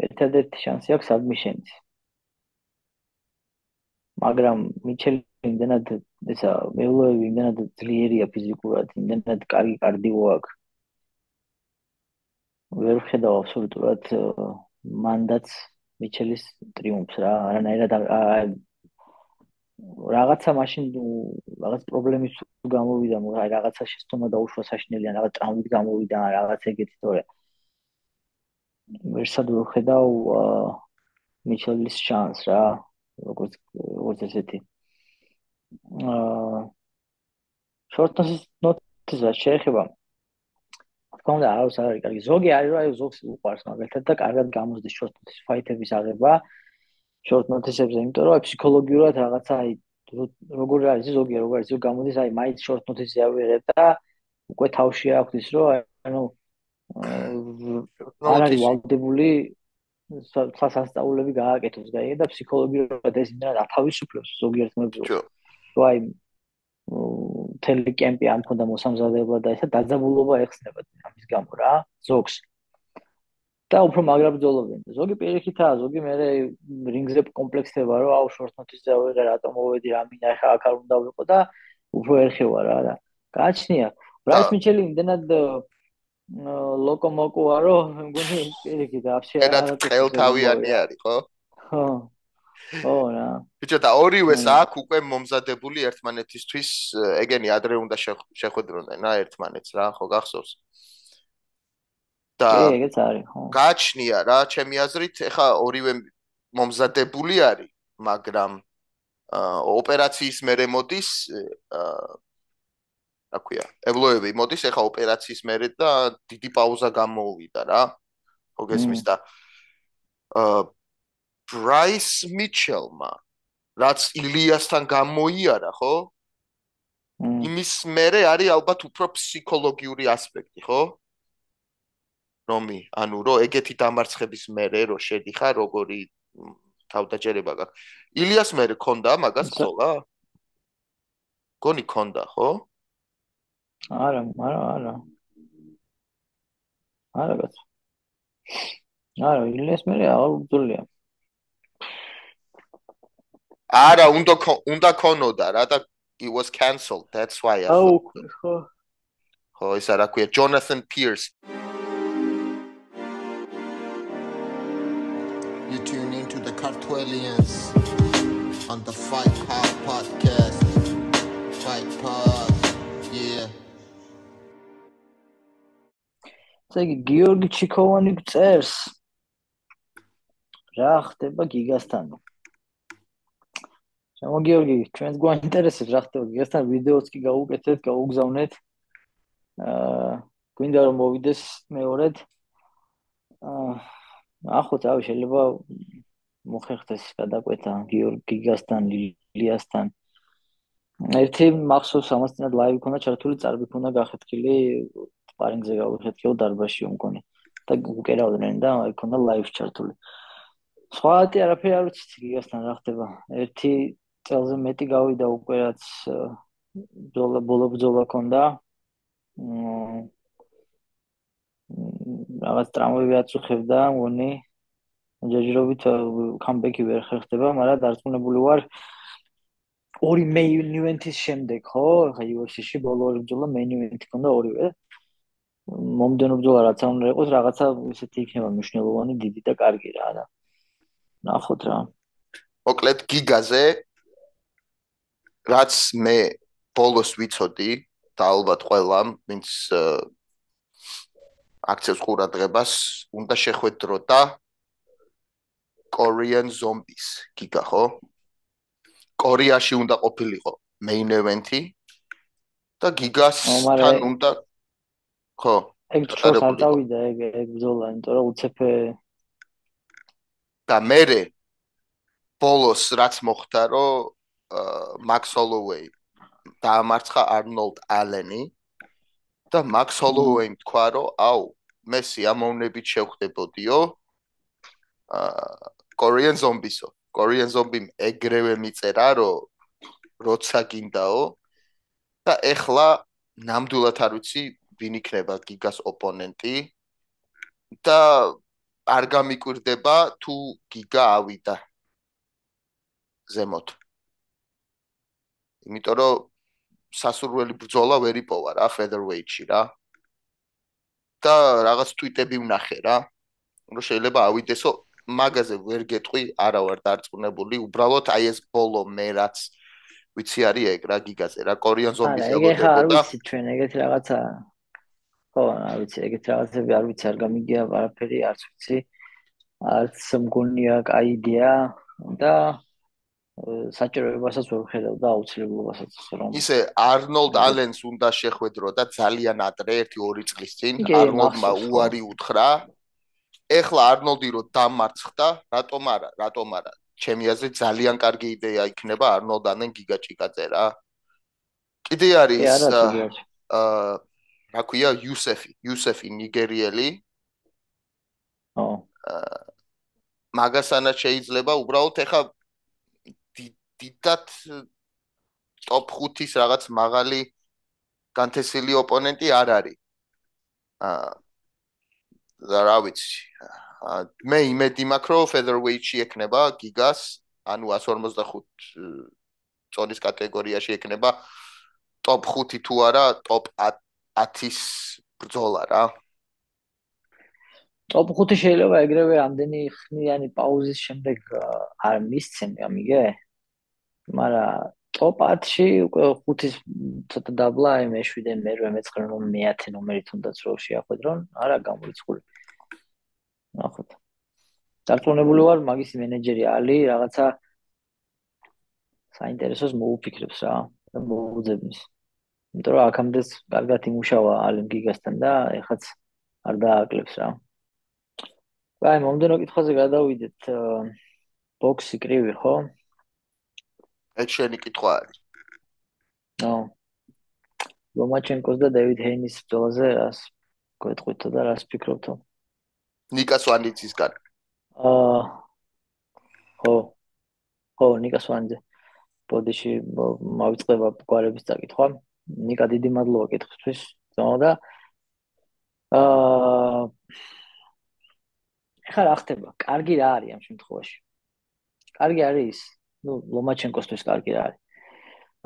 ერთადერთი შანსი აქვს ადმიშენიც. მაგრამ მიჩელი იმდენად ესა ველოები იმდენად ძლიერია ფიზიკურად, იმდენად კარგი კარდიო აქვს. ვერ ვხედავ აბსოლუტურად მანდაც მიჩელის ტრიუმფს რა, არანაირად რაღაცა მაშინ რაღაც პრობლემის გამოვიდა, აი რაღაცა შეცდომა დაუშვა საშინელი ან რაღაც ტრამვით გამოვიდა, რაღაც ეგეთი თორე ვერსად ვერ ვხედავ მიჩელის შანსს რა, როგორც როგორც ესეთი. აა short notice-ს შეეხება თქმა უნდა არავის არ არის კარგი. ზოგი არის რა, ზოგს უყვარს მაგალითად და კარგად გამოსდის short notice ფაითების აღება short notice-ებზე, იმიტომ რომ ფსიქოლოგიურად რაღაცა აი როგორ არის ზოგი როგორ არის ზოგი გამოდის აი მაინც short notice-ზე ავიღებ და უკვე თავში აქვს ის რომ ანუ არ არის ვალდებული სასწაულები გააკეთოს გაიგე და ფსიქოლოგიურად ეს იმდენად ათავისუფლებს ზოგიერთ მებრძოლს. რომ აი მთელი კემპი ამ ქონდა მოსამზადებლად და ესა დაძაბულობა ეხსნება ამის გამო რა ზოგს და უფრო მაგრა ბრძოლობენ. ზოგი პირიქითაა, ზოგი მე რინგზე კომპლექსდება, რომ აუ short notice-ზე ავიღე, რატომ მოვედი, რა მინდა, ხა აქ არ უნდა ვიყო და უფრო ერხევა რა და გააჩნია. ბრაის მიჩელი იმდენად ლოკომოკოა, რომ მგონი პირიქით აფშე არა ტყელთავიანი არის, ხო? ხო. ხო რა. ბიჭო და ორივეს აქ უკვე მომზადებული ერთმანეთისთვის, ეგენი ადრე უნდა შეხვედროდნენ რა ერთმანეთს რა, ხო გახსოვს? და ეგეც არის, ხო. გააჩნია რა, ჩემი აზრით, ეხა ორივე მომზადებული არის, მაგრამ ოპერაციის მერე მოდის, რა ქვია, ევლოები მოდის, ეხა ოპერაციის მერე და დიდი პაუზა გამოუვიდა რა. ხო გესმის და ბრაის მიჩელმა რაც ილიასთან გამოიარა, ხო? იმის მერე არის ალბათ უფრო ფსიქოლოგიური ასპექტი, ხო? რომი, ანუ რო ეგეთი დამარცხების მერე რო შედიხარ, როგორი თავდაჯერება გაქვს. ილიას მერე ქონდა მაგას ხოლა? გონი ქონდა, ხო? არა, არა, არა. არა გაც. არა, ილიას მერე აღარ უძოლია. არა, უნდა უნდა ქონოდა რა და it was cancelled. That's why. აუ, ხო. ხო, ისა რა ქვია, Jonathan Pierce. You tune into the Cartwellians on the Fight Hard podcast. Fight Pod, yeah. ზეგი გიორგი ჩიქოვანი წერს. რა ხდება გიგასთან? შემო გიორგი, ჩვენს გვაინტერესებს რა ხდება გიგასთან, ვიდეოც კი გაუკეთეთ, გაუგზავნეთ. აა, გვინდა რომ მოვიდეს მეორედ. აა ახოთ ავი შეიძლება მოხერხდეს გადაკვეთა გიორგი გიგასთან, ლილიასთან. ერთი მახსოვს ამასთანად ლაივი ქონდა ჩართული, წარბი ქონდა გახეთქილი, სპარინგზე გავიხეთქილ დარბაზში უმკონი და უკერავდნენ და აი ქონდა ლაივში ჩართული. სხვაათი არაფერი არ ვიცი გიგასთან რა ხდება. ერთი წელზე მეტი გავიდა უკვე რაც ბრძოლა ბოლო ბრძოლა ქონდა. რაღაც ტრამვები აწუხებდა, მგონი ჯერჯერობით კამბექი ვერ ხერხდება, მაგრამ დარწმუნებული ვარ ორი main event-ის შემდეგ, ხო? ხა იუ ეფ სი-ში ბოლო ორი ბრძოლა main event-ი ქონდა ორივე. მომდენო ბრძოლა რაც არ უნდა იყოს, რაღაცა ისეთი იქნება მნიშვნელოვანი, დიდი და კარგი რა და ნახოთ რა. მოკლედ გიგაზე რაც მე ბოლოს ვიცოდი და ალბათ ყველამ, ვინც აქცევს ყურადღებას, უნდა შეხვედრო და Korean Zombies გიგა, ხო? კორეაში უნდა ყოფილიყო main event-ი და გიგასთან უნდა ხო, ეგ ჩვენს არ დავიდა ეგ ეგ ბრძოლა, იმიტომ რომ უცებ და მერე ბოლოს რაც მოხდა, რომ Max Holloway დაამარცხა Arnold Allen-ი და Max Holloway-მ თქვა, რომ აუ, მე სიამოვნებით შევხვდებოდიო აა Korean Zombies-ო. Korean Zombie-მ ეგრევე მიწერა, რომ როცა გინდაო და ეხლა ნამდვილად არ ვიცი ვინ იქნება გიგას ოპონენტი და არ გამიკვირდება თუ გიგა ავიდა ზემოთ. იმიტომ რომ სასურველი ბრძოლა ვერ იპოვა რა featherweight-ში რა. და რაღაც ტვიტები ვნახე რა, რომ შეიძლება ავიდესო მაგაზე ვერ გეტყვი, არა ვარ დარწმუნებული, უბრალოდ აი ეს ბოლო მე რაც ვიცი არის ეგ რა გიგაზე რა კორიან ზომბის არა, ეგ როგორ ხა არ დებოდა. ვიცი ჩვენ ეგეთი რაღაცა. ხო, არ ვიცი, ეგეთი რაღაცები არ ვიცი, არ გამიგია არაფერი, არც ვიცი. არც მგონია კაი იდეა და საჭიროებასაც ვერ ვხედავ და აუცილებლობასაც რომ ისე არნოლდ ალენს უნდა შეხვედრო და ძალიან ადრე ერთი ორი წლის წინ არნოლდმა უარი უთხრა. ეხლა არნოლდი რო დამარცხდა, რატომ არა, რატომ არა. ჩემი აზრით ძალიან კარგი იდეა იქნება არნოლდ ალენ გიგაჭიკაძე რა. კიდე არის აა რა ქვია იუსეფი, იუსეფი ნიგერიელი. ო. მაგასანა შეიძლება უბრალოდ ეხა დიდად ტოპ ხუთის რაღაც მაღალი განთესილი ოპონენტი არ არის. აა რა ვიცი. მე იმედი მაქვს რომ featherweight-ში ექნება გიგას, ანუ one forty-five წონის კატეგორიაში ექნება ტოპ ხუთი თუ არა ტოპ ათის ბრძოლა რა. ტოპ ხუთი შეიძლება ეგრევე ამდენი ხნიანი პაუზის შემდეგ არ მისცენ, გამიგე? მაგრამ ტოპ ათში უკვე ხუთის ცოტა დაბლა, აი მეშვიდე, მერვე, მეცხრე, მეათე ნომერი თუნდაც რო შეახვედრონ, არა გამორიცხული. ნახოთ. დარწმუნებული ვარ, მაგის მენეჯერი ალი რაღაცა საინტერესოს მოუფიქრებს რა, მოუძებნის. იმიტომ რომ აქამდეც კარგად იმუშავა ალიმ გიგასთან და ეხაც არ დააკლებს რა. აი, მომდენო კითხვაზე გადავიდეთ. ბოქსი კრივი, ხო? ეს შენი კითხვა არის. ნო. ლომაჩენკოს და დევიდ ჰეინის ბრძოლაზე რას გვეტყვით და რას ფიქრობთ? ნიკა სვანიძისგან. აა ხო. ხო, ნიკა სვანიძე. ბოდიში მოვიწყდება გვარების წაკითხვა. ნიკა დიდი მადლობა კითხვისთვის. და აა ეხლა რა ხდება? კარგი რა არის ამ შემთხვევაში? კარგი არის, ну, ლომაჩენკოსთვის კარგი რა არის.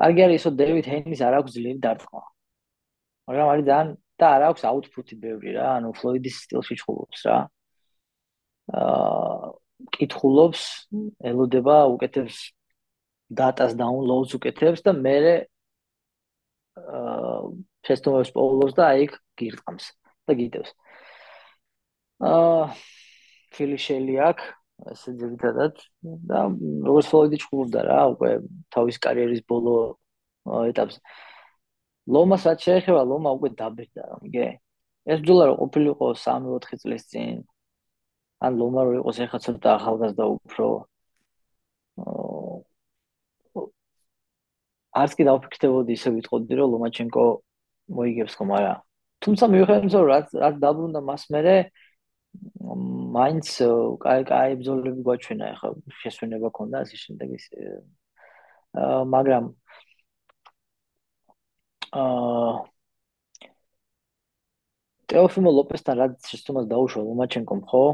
კარგი არის, რომ დევიდ ჰეინის არ აქვს ძლიერი დარტყმა. მაგრამ არის ძალიან და არ აქვს აუთფუტი ბევრი რა, ანუ ფლოიდის სტილში ჩხუბობს რა. აა კითხულობს, ელოდება, უკეთებს დატას დაუნლოუდს უკეთებს და მე აა ფესტოვებს პოულობს და აი გირტყამს და გიტევს. აა ფილიშელი აქვს, ესე ძირითადად და როგორც ფლოიდი ჩხუბობდა რა, უკვე თავის კარიერის ბოლო ეტაპზე. ლომას რაც შეეხება, ლომა უკვე დაბერდა, მიგე? ეს ბრძოლა რო ყოფილიყო სამი ოთხი წლის წინ, ან ლომა რო იყოს ეხლა ცოტა ახალგაზრდა უფრო არც კი დავფიქრდებოდი ისე ვიტყოდი რომ ლომაჩენკო მოიგებს ხომ არა. თუმცა მივხვდი რომ რაც რაც დაბრუნდა მას მერე მაინც კაი კაი ბრძოლები გვაჩვენა ეხლა შესვენება ქონდა ასე შემდეგ ის აა მაგრამ აა ტეოფიმო ლოპესთან რაც შეცდომას დაუშვა ლომაჩენკომ ხო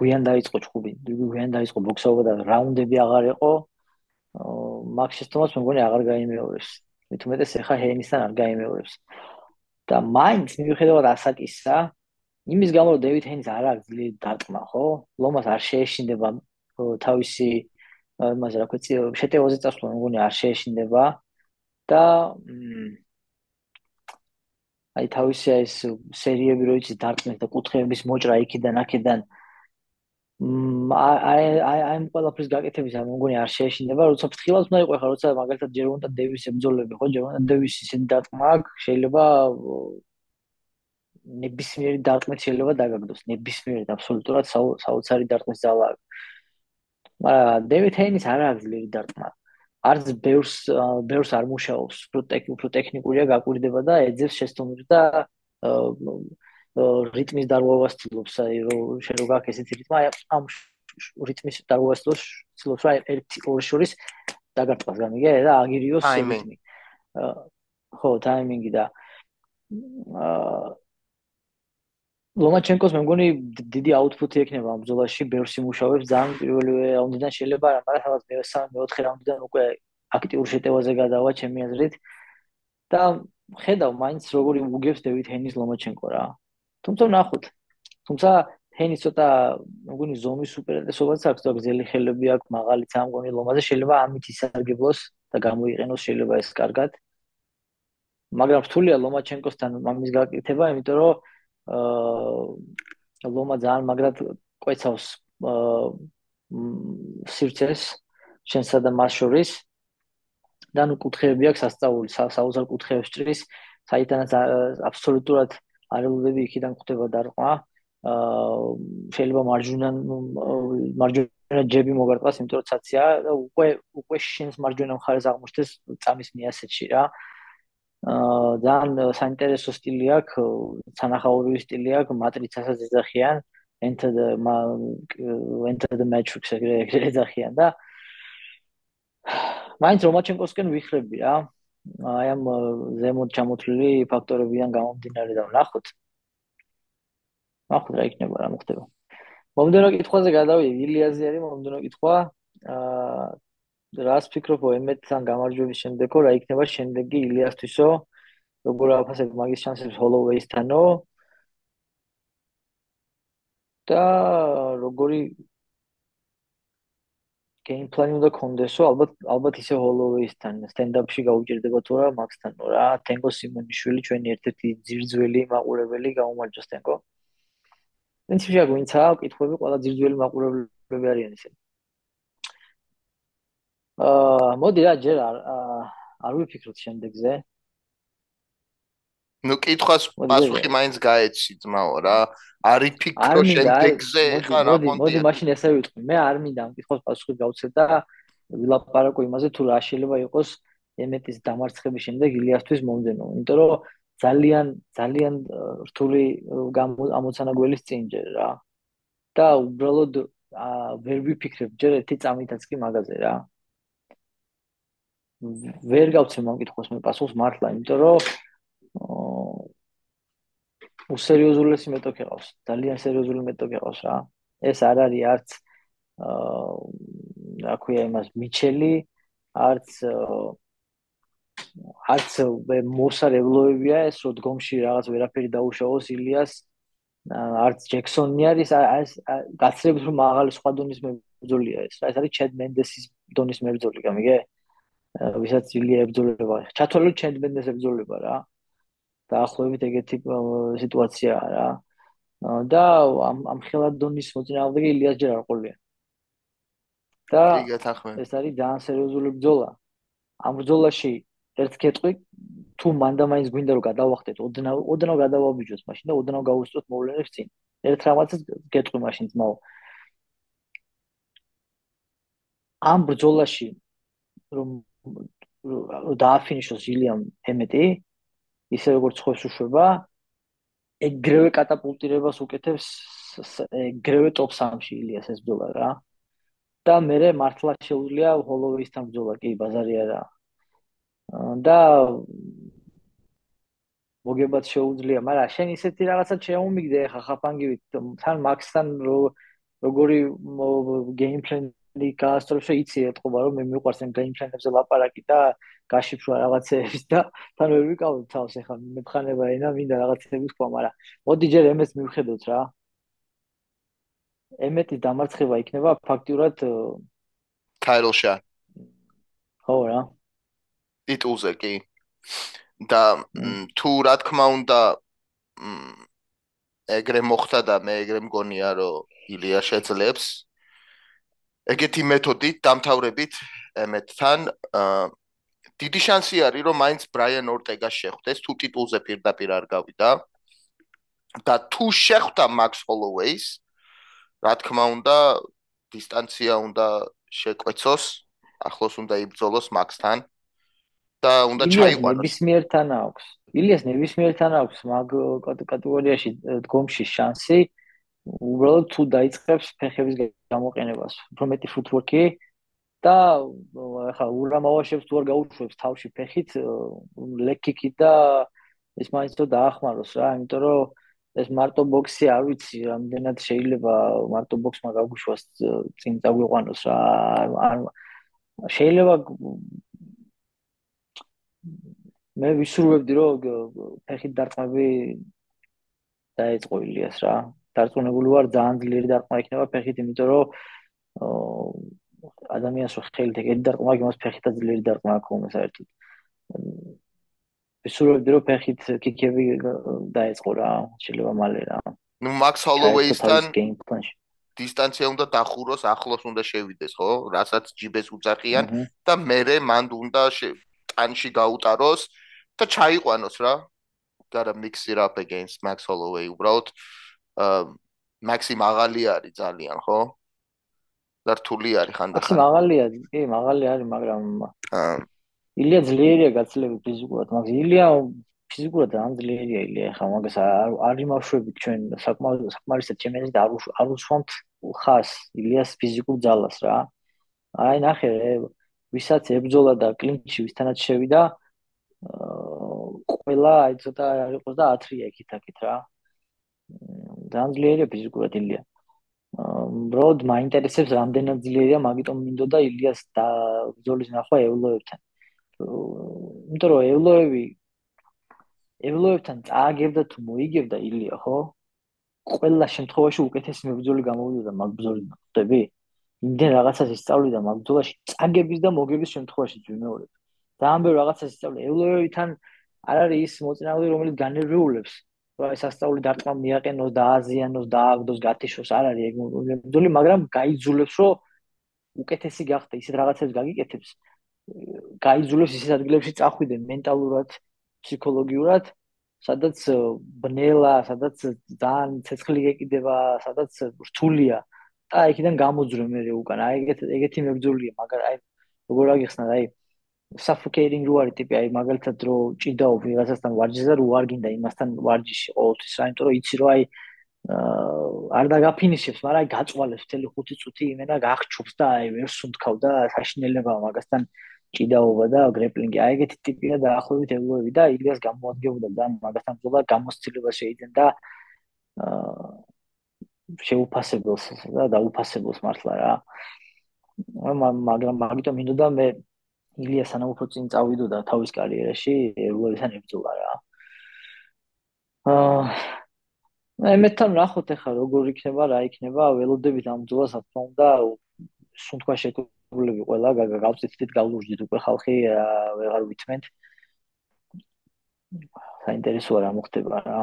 გვიან დაიწყო ჩხუბი გვიან დაიწყო ბოქსობა და რაუნდები აღარ იყო მაგ შეცდომას მეგონი აღარ გაიმეორებს მით უმეტეს ეხა ჰეინისთან არ გაიმეორებს და მაინც მიუხედავად ასაკისა იმის გამო რომ დევიდ ჰეინის არ აქვს ძლიერი დარტყმა ხო ლომას არ შეეშინდება თავისი იმაზე რა ქვია შეტევაზე წასვლა მეგონი არ შეეშინდება და აი თავისი ეს სერიები რო იცი დარტყმის და კუთხეების მოჭრა იქიდან აქედან აი აი აი ყველაფრის გაკეთების ამ მგონი არ შეეშინდება, როცა ფრთხილად უნდა იყო ხა, როცა მაგალითად ჯერონდა დევისის ებრძოლები ხო, ჯერონდა დევისის ისეთი დარტყმა აქვს, შეიძლება ნებისმიერი დარტყმით შეიძლება დაგაგდოს, ნებისმიერი აბსოლუტურად საოცარი დარტყმის ძალა აქვს. მაგრამ დევიდ ჰეინის არ აქვს ძლიერი დარტყმა. არც ბევრს ბევრს არ მუშაობს, უფრო ტექნიკურია, გაკვირდება და ეძებს შეცდომებს და რიტმის დარღვევას ცდილობს, აი რომ შენ რო გაქვს ესეთი რიტმა, აი ამ რიტმის დარღვევას ცდილობს, რა ერთი ორი შორის დაგარტყას გამიგე და აგირიოს რიტმი. ხო, ტაიმინგი და აა ლომაჩენკოს მე მგონი დიდი აუთფუტი ექნება ამ ბრძოლაში, ბევრს იმუშავებს, ძალიან პირველი რაუნდიდან შეიძლება, მაგრამ სადაც მესამე, მეოთხე რაუნდიდან უკვე აქტიურ შეტევაზე გადავა ჩემი აზრით და ხედავ მაინც როგორი უგებს დევიდ ჰეინის ლომაჩენკო რა. თუმცა ნახოთ. თუმცა თენის ცოტა მგონი ზომის უპირატესობაც აქვს და გზელი ხელები აქვს, მაღალი წამყვანი ლომაზე შეიძლება ამით ისარგებლოს და გამოიყენოს შეიძლება ეს კარგად. მაგრამ რთულია ლომაჩენკოსთან ამის გაკეთება, იმიტომ რომ აა ლომა ძალიან მაგრად კვეცავს აა სივრცეს შენსა და მას შორის და ნუ კუთხეები აქვს ასწაული, საოცარ კუთხეებს ჭრის, საიდანაც აბსოლუტურად არ ელოდები იქიდან ხვდება დარყვა. აა შეიძლება მარჯვენა მარჯვენა ჯები მოგარტყას, იმიტომ რომ ცაცია და უკვე უკვე შენს მარჯვენა მხარეს აღმოჩნდეს წამის მიასეთში რა. აა ძალიან საინტერესო სტილი აქვს, სანახაობრივი სტილი აქვს, მატრიცასაც ეძახიან, Enter the Enter the Matrix ეგრე ეძახიან და მაინც რომაჩენკოსკენ ვიხრები რა. აი ამ ზემოთ ჩამოთვლილი ფაქტორებიდან გამომდინარე და ვნახოთ. ნახოთ რა იქნება, რა მოხდება. მომდევნო კითხვაზე გადავიდე, ილიაზე არის მომდევნო კითხვა. აა რას ფიქრობ ემეტთან გამარჯვების შემდეგო, რა იქნება შემდეგი ილიასთვისო? როგორ აფასებ მაგის შანსებს ჰოლოვეისთანო? და როგორი გეიმპლანი უნდა კონდესო, ალბათ ალბათ ისე ჰოლოვეისთან სტენდაპში გაუჭირდება თუ რა მაქსთანო რა. თენგო სიმონიშვილი ჩვენი ერთ-ერთი ძირძველი მაყურებელი, გაუმარჯოს თენგო. პრინციპში აქ ვინცაა კითხვები, ყველა ძირძველი მაყურებლები არიან ისინი. აა მოდი რა ჯერ არ არ ვიფიქროთ შემდეგზე. ნუ კითხვას პასუხი მაინც გაეცი ძმაო რა. არ იფიქრო შემდეგზე ხა რა მოდი მოდი მაშინ ესე ვიტყვი. მე არ მინდა ამ კითხვის პასუხი გავცეთ და ვილაპარაკო იმაზე თუ რა შეიძლება იყოს ემეტის დამარცხების შემდეგ ილიასთვის მომდენო. იმიტომ რომ ძალიან ძალიან რთული ამოცანა გველის წინ ჯერ რა. და უბრალოდ ვერ ვიფიქრებ ჯერ ერთი წამითაც კი მაგაზე რა. ვერ გავცემ ამ კითხვის მე პასუხს მართლა, იმიტომ რომ უსერიოზულესი მეტოქი ყავს, ძალიან სერიოზული მეტოქი ყავს რა. ეს არ არის არც აა რა ქვია იმას მიჩელი, არც არც მოსარებლოებია ეს, რომ დგომში რაღაც ვერაფერი დაუშავოს ილიას, არც ჯექსონი არის, ეს გაცილებით რომ მაღალი სხვა დონის მებრძოლია ეს რა. ეს არის ჩედ მენდესის დონის მებრძოლი, გამიგე? ვისაც ილია ებრძოლება. ჩათვალოთ ჩედ მენდეს ებრძოლება რა. დაახლოებით ეგეთი სიტუაციაა რა. და ამ ამ ხელად დონის მოწინააღმდეგე ილიას ჯერ არ ყოლია. და ეს არის ძალიან სერიოზული ბრძოლა. ამ ბრძოლაში ერთ კეთყვი თუ მანდა მაინც გვინდა რომ გადავახტეთ, ოდნავ ოდნავ გადავაბიჯოთ მაშინ და ოდნავ გავუსწროთ მოვლენებს წინ. ერთ რაღაცას კეთყვი მაშინ ძმაო. ამ ბრძოლაში რომ დააფინიშოს ილიამ ემეტი, ისე როგორც ხოს უშვება, ეგრევე კატაპულტირებას უკეთებს ეგრევე ტოპ სამში ილიას ეს ბრძოლა რა. და მე მართლა შეუძლია ჰოლოვეისთან ბრძოლა, კი, ბაზარი არა. და მოგებაც შეუძლია, მაგრამ შენ ისეთი რაღაცა შეუმიგდე ხა ხაფანგივით, თან მაქსთან როგორი გეიმპლენი გაასწრებს, იცი ეთყობა რომ მე მიყვარს ამ გეიმპლენებზე ლაპარაკი და გაშიფრვა რაღაცეების და თან ვერ ვიკავებ თავს ეხლა მებხანება ენა მინდა რაღაცების თქვა, მაგრამ მოდი ჯერ ემეს მივხედოთ რა. ემეტის დამარცხება იქნება ფაქტიურად title shot. ხო რა. ტიტულზე კი. და თუ რა თქმა უნდა ეგრე მოხდა და მე ეგრე მგონია რომ ილია შეძლებს ეგეთი მეთოდით დამთავრებით ემეტთან დიდი შანსი არის რომ მაინც ბრაიან ორტეგას შეხვდეს თუ ტიტულზე პირდაპირ არ გავიდა და თუ შეხვდა მაქს ჰოლოვეის რა თქმა უნდა დისტანცია უნდა შეკვეცოს ახლოს უნდა იბრძოლოს მაქსთან და უნდა ჩაიყვანოს. ნებისმიერთან აქვს. ილიას ნებისმიერთან აქვს მაგ კატეგორიაში დგომში შანსი. უბრალოდ თუ დაიწყებს ფეხების გამოყენებას, უფრო მეტი ფუტვორკი და ახლა ურამავაშებს თუ არ გაუშვებს თავში ფეხით, ლეკიკი და ეს მაინც თუ დაახმაროს რა, იმიტომ რომ ეს მარტო ბოქსი არ ვიცი, რამდენად შეიძლება მარტო ბოქსმა გაგუშვას წინ წაგვიყვანოს რა. შეიძლება მე ვისურვებდი რომ ფეხით დარტყმები დაეწყო ილიას რა. დარწმუნებული ვარ ძალიან ძლიერი დარტყმა იქნება ფეხით, იმიტომ რომ ადამიანს რო ხელით ეგეთი დარტყმა აქვს, იმას ფეხითაც ძლიერი დარტყმა აქვს ხოლმე საერთოდ. ვისურვებდი რომ ფეხით კიკები დაეწყო რა, შეიძლება მალე რა. ნუ Max Holloway-სთან game plan-ში. დისტანცია უნდა დახუროს, ახლოს უნდა შევიდეს, ხო? რასაც ჯიბეს უძახიან და მერე მან უნდა ტანში გაუტაროს და ჩაიყვანოს რა. Gotta mix it up against Max Holloway. უბრალოდ Maxi მაღალი არის ძალიან, ხო? და რთული არის ხანდახან. Maxi მაღალი არის, კი, მაღალი არის, მაგრამ ილია ძლიერია გაცილებით ფიზიკურად, მაგრამ ილია ფიზიკურად ძალიან ძლიერია ილია, ხა მაგას არ იმავშვებით ჩვენ საკმარისად ჩემს და არ უსვამთ ხას ილიას ფიზიკურ ძალას რა. აი ნახე, ვისაც ებრძოლა და კლინჩი ვისთანაც შევიდა, ყველა აი ცოტა არ იყოს და ათრია იქით-აქით რა. ძალიან ძლიერია ფიზიკურად ილია. უბრალოდ მაინტერესებს რამდენად ძლიერია, მაგიტომ მინდოდა ილიას და ბრძოლის ნახვა ევლოებთან. იმიტომ რომ ევლოევი ევლოებთან წააგებდა თუ მოიგებდა ილია, ხო? ყველა შემთხვევაში უკეთესი მებრძოლი გამოვიდა მაგ ბრძოლიდან, ხვდები? იმდენ რაღაცას ისწავლიდა მაგ ბრძოლაში, წაგების და მოგების შემთხვევაში ვიმეორებ. ძალიან ბევრ რაღაცას ისწავლიდა. ევლოევთან არ არის ის მოწინააღმდეგე, რომელიც განერვიულებს, რომ ეს ასწავლი დარტყმა მიაყენოს და აზიანოს და ააგდოს გათიშოს, არ არის ეგ მებრძოლი, მაგრამ გაიძულებს, რომ უკეთესი გახდა, ისეთ რაღაცებს გაგიკეთებს. გაიძულებს ისეთ ადგილებში წახვიდე მენტალურად, ფსიქოლოგიურად, სადაც ბნელა, სადაც ძალიან ცეცხლი ეკიდება, სადაც რთულია და იქიდან გამოძრე მე უკან. აი ეგეთი ეგეთი მებრძოლია, მაგრამ აი როგორ აგიხსნათ, აი suffocating რო არის ტიპი, აი მაგალითად რო ჭიდაო ვიღაცასთან ვარჯიშზე რო არ გინდა იმასთან ვარჯიში ყოველთვის რა, იმიტომ რომ იცი რომ აი არ დაგაფინიშებს, მაგრამ აი გაწვალებს მთელი ხუთი წუთი იმენა გახჩობს და აი ვერ სუნთქავ და საშინელებაა მაგასთან ჭიდაობა და გრეპლინგი. აი ეგეთი ტიპია დაახლოებით ევლოევი და ილიას გამოადგებოდა და მაგასთან ბრძოლა გამოცდილებას შეიძენდა შეუფასებელს და დაუფასებელს მართლა რა. მაგრამ მაგიტომ მინდოდა მე ილია სანამ უფრო წინ წავიდოდა თავის კარიერაში ევლოევთან ებრძოლა რა. აა მეთან ნახოთ ახლა როგორ იქნება, რა იქნება, ველოდებით ამ ბრძოლას, რა თქმა უნდა, სუნთქვა შეკრულები ყველა გავწითით, გავლურჯით უკვე ხალხი ვეღარ ვითმენთ. საინტერესოა რა მოხდება რა.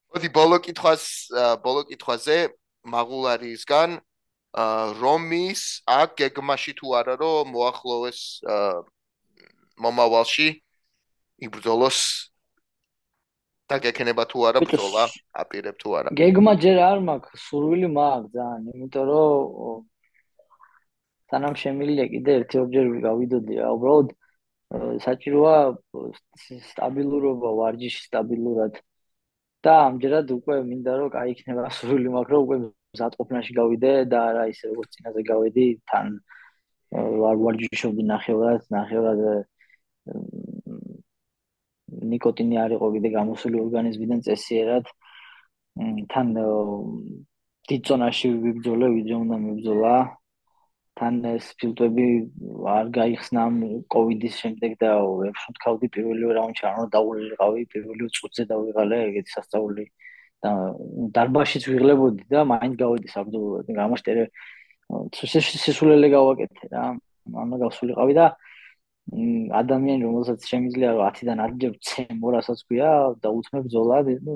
მოდი ბოლო კითხვას, ბოლო კითხვაზე მაღულარისგან რომის აქ გეგმაში თუ არა რომ მოახლოვეს მომავალში იბრძოლოს და გექნება თუ არა ბრძოლა, აპირებ თუ არა. გეგმა ჯერ არ მაქვს, სურვილი მაქვს ძალიან, იმიტომ რომ სანამ შემილია კიდე ერთი ორჯერ გავიდოდი რა, უბრალოდ საჭიროა სტაბილურობა ვარჯიში სტაბილურად და ამჯერად უკვე მინდა რომ კაი იქნება სურვილი მაქვს რომ უკვე მზადყოფნაში გავიდე და არა ისე როგორც წინაზე გავედი თან ვარ ვარჯიშობდი ნახევრად ნახევრად ნიკოტინი არ იყო კიდე გამოსული ორგანიზმიდან წესიერად თან დიდ ზონაში ვიბრძოლე ვიდრე უნდა მიბრძოლა თან ეს ფილტვები არ გაიხსნა კოვიდის შემდეგ და ვერ შევთქავდი პირველი რაუნდში არ უნდა დაულიყავი პირველი წუთზე დავიღალე ეგეთი სასწაული და დარბაშიც ვიღლებოდი და მაინც გავედი საბრძოლოდ გამაშტერე სისულელე გავაკეთე რა ამა გავსულიყავი და ადამიანი რომელსაც შემიძლია რომ ათიდან ათჯერ ცემ ორასაც ქვია და უთმე ბრძოლა ნუ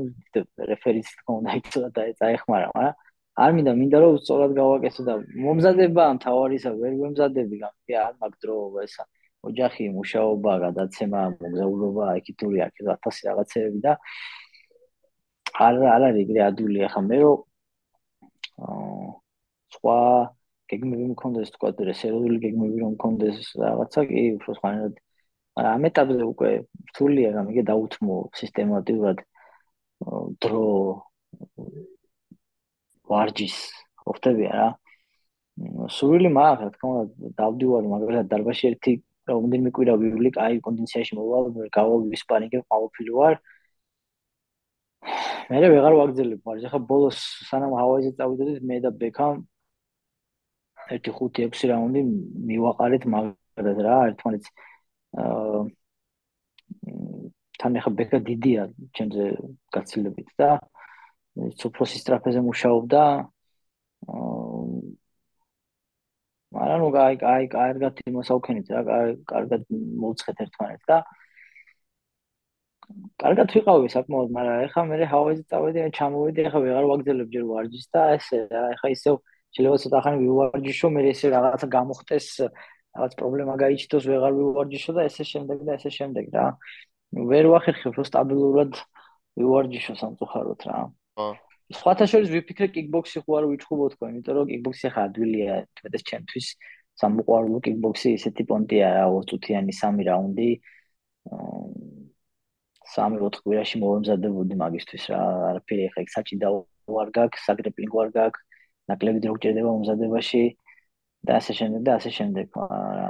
რეფერიც თქონდა იცოდა და წაეხმარა მაგრამ არ მინდა მინდა რომ სწორად გავაკეთო და მომზადება მთავარისა ვერ ვემზადები გამიგე არ მაგ დრო ესა ოჯახი მუშაობა გადაცემა მოგზაურობა ეკიტური აქ ათასი რაღაცეები და არ არ არის ეგრე ადვილი ახლა მე რომ სხვა გეგმები მქონდეს თქვა რესერვული გეგმები რომ მქონდეს რაღაცა კი უფრო სხვანაირად მაგრამ ამ ეტაპზე უკვე რთულია გამიგე დაუთმო სისტემატურად დრო ვარჯის ყოფტებია რა სურვილი მაქვს რა თქმა უნდა დავდივარ მაგალითად დარბაში ერთი რამდენიმე კვირა ვივლი კაი კონდიციაში მოვალ გავალ ვისპარინგებ ყოველფილი ვარ მე ვეღარ ვაგრძელებ ვარჯი ხა ბოლოს სანამ ჰავაიზე წავიდოდით მე და ბექამ ერთი ხუთი ექვსი რაუნდი მივაყარეთ მაგრად რა ერთმანეთს აა თან ახლა ბეკა დიდია ჩემზე გაცილებით და სუფროსის ტრაფეზე მუშაობდა. მაგრამ ნუ აი აი კარგად იმოსავქენით რა, კარგად მოვცხეთ ერთმანეთს და კარგად ვიყავი საკმაოდ, მაგრამ ეხლა მე ჰავაიზე წავედი, ჩამოვედი, ეხლა ვეღარ ვაგრძელებ ჯერ ვარჯიშს და ესე რა, ეხლა ისევ შეიძლება ცოტა ხანი ვივარჯიშო, მე ესე რაღაცა გამოხდეს, რაღაც პრობლემა გაიჩნდოს, ვეღარ ვივარჯიშო და ესე შემდეგ და ესე შემდეგ რა. ვერ ვახერხებ რომ სტაბილურად ვივარჯიშო სამწუხაროდ რა. ხო. სხვათა შორის ვიფიქრე კიკბოქსი ხო არ ვიჩხუბო თქვა, იმიტომ რომ კიკბოქსი ახლა ადვილია, თუმცა ჩემთვის სამუყვარულო კიკბოქსი ისეთი პონტია რა, ორი წუთიანი სამი რაუნდი. სამი ოთხ კვირაში მოვემზადებოდი მაგისთვის რა, არაფერი ახლა იქ საჭიდაო არ გაქვს, საგრეპლინგო არ გაქვს, ნაკლები დრო გჭირდება მომზადებაში და ასე შემდეგ და ასე შემდეგ რა.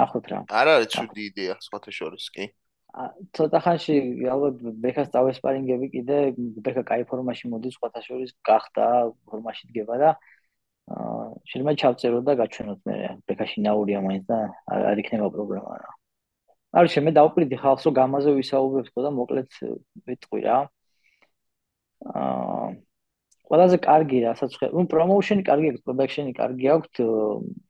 ახოთ რა. არ არის ცუდი იდეა სხვათა შორის კი. ცოტა ხანში ალბათ ბექას წავესპარინგები კიდე, ბექა კაი ფორმაში მოდის, სხვათა შორის გახდა, ფორმაში დგება და შეიძლება ჩავწერო და გაჩვენოთ მე ბექაში ნაურია მაინც და არ იქნება პრობლემა რა. არ შემე დავყრიდი ხალხს რომ გამაზე ვისაუბრებთ და მოკლედ ვიტყვი რა. აა ყველაზე კარგი რასაც ხე, ნუ პრომოუშენი კარგი აქვს, პროდაქშენი კარგი აქვს,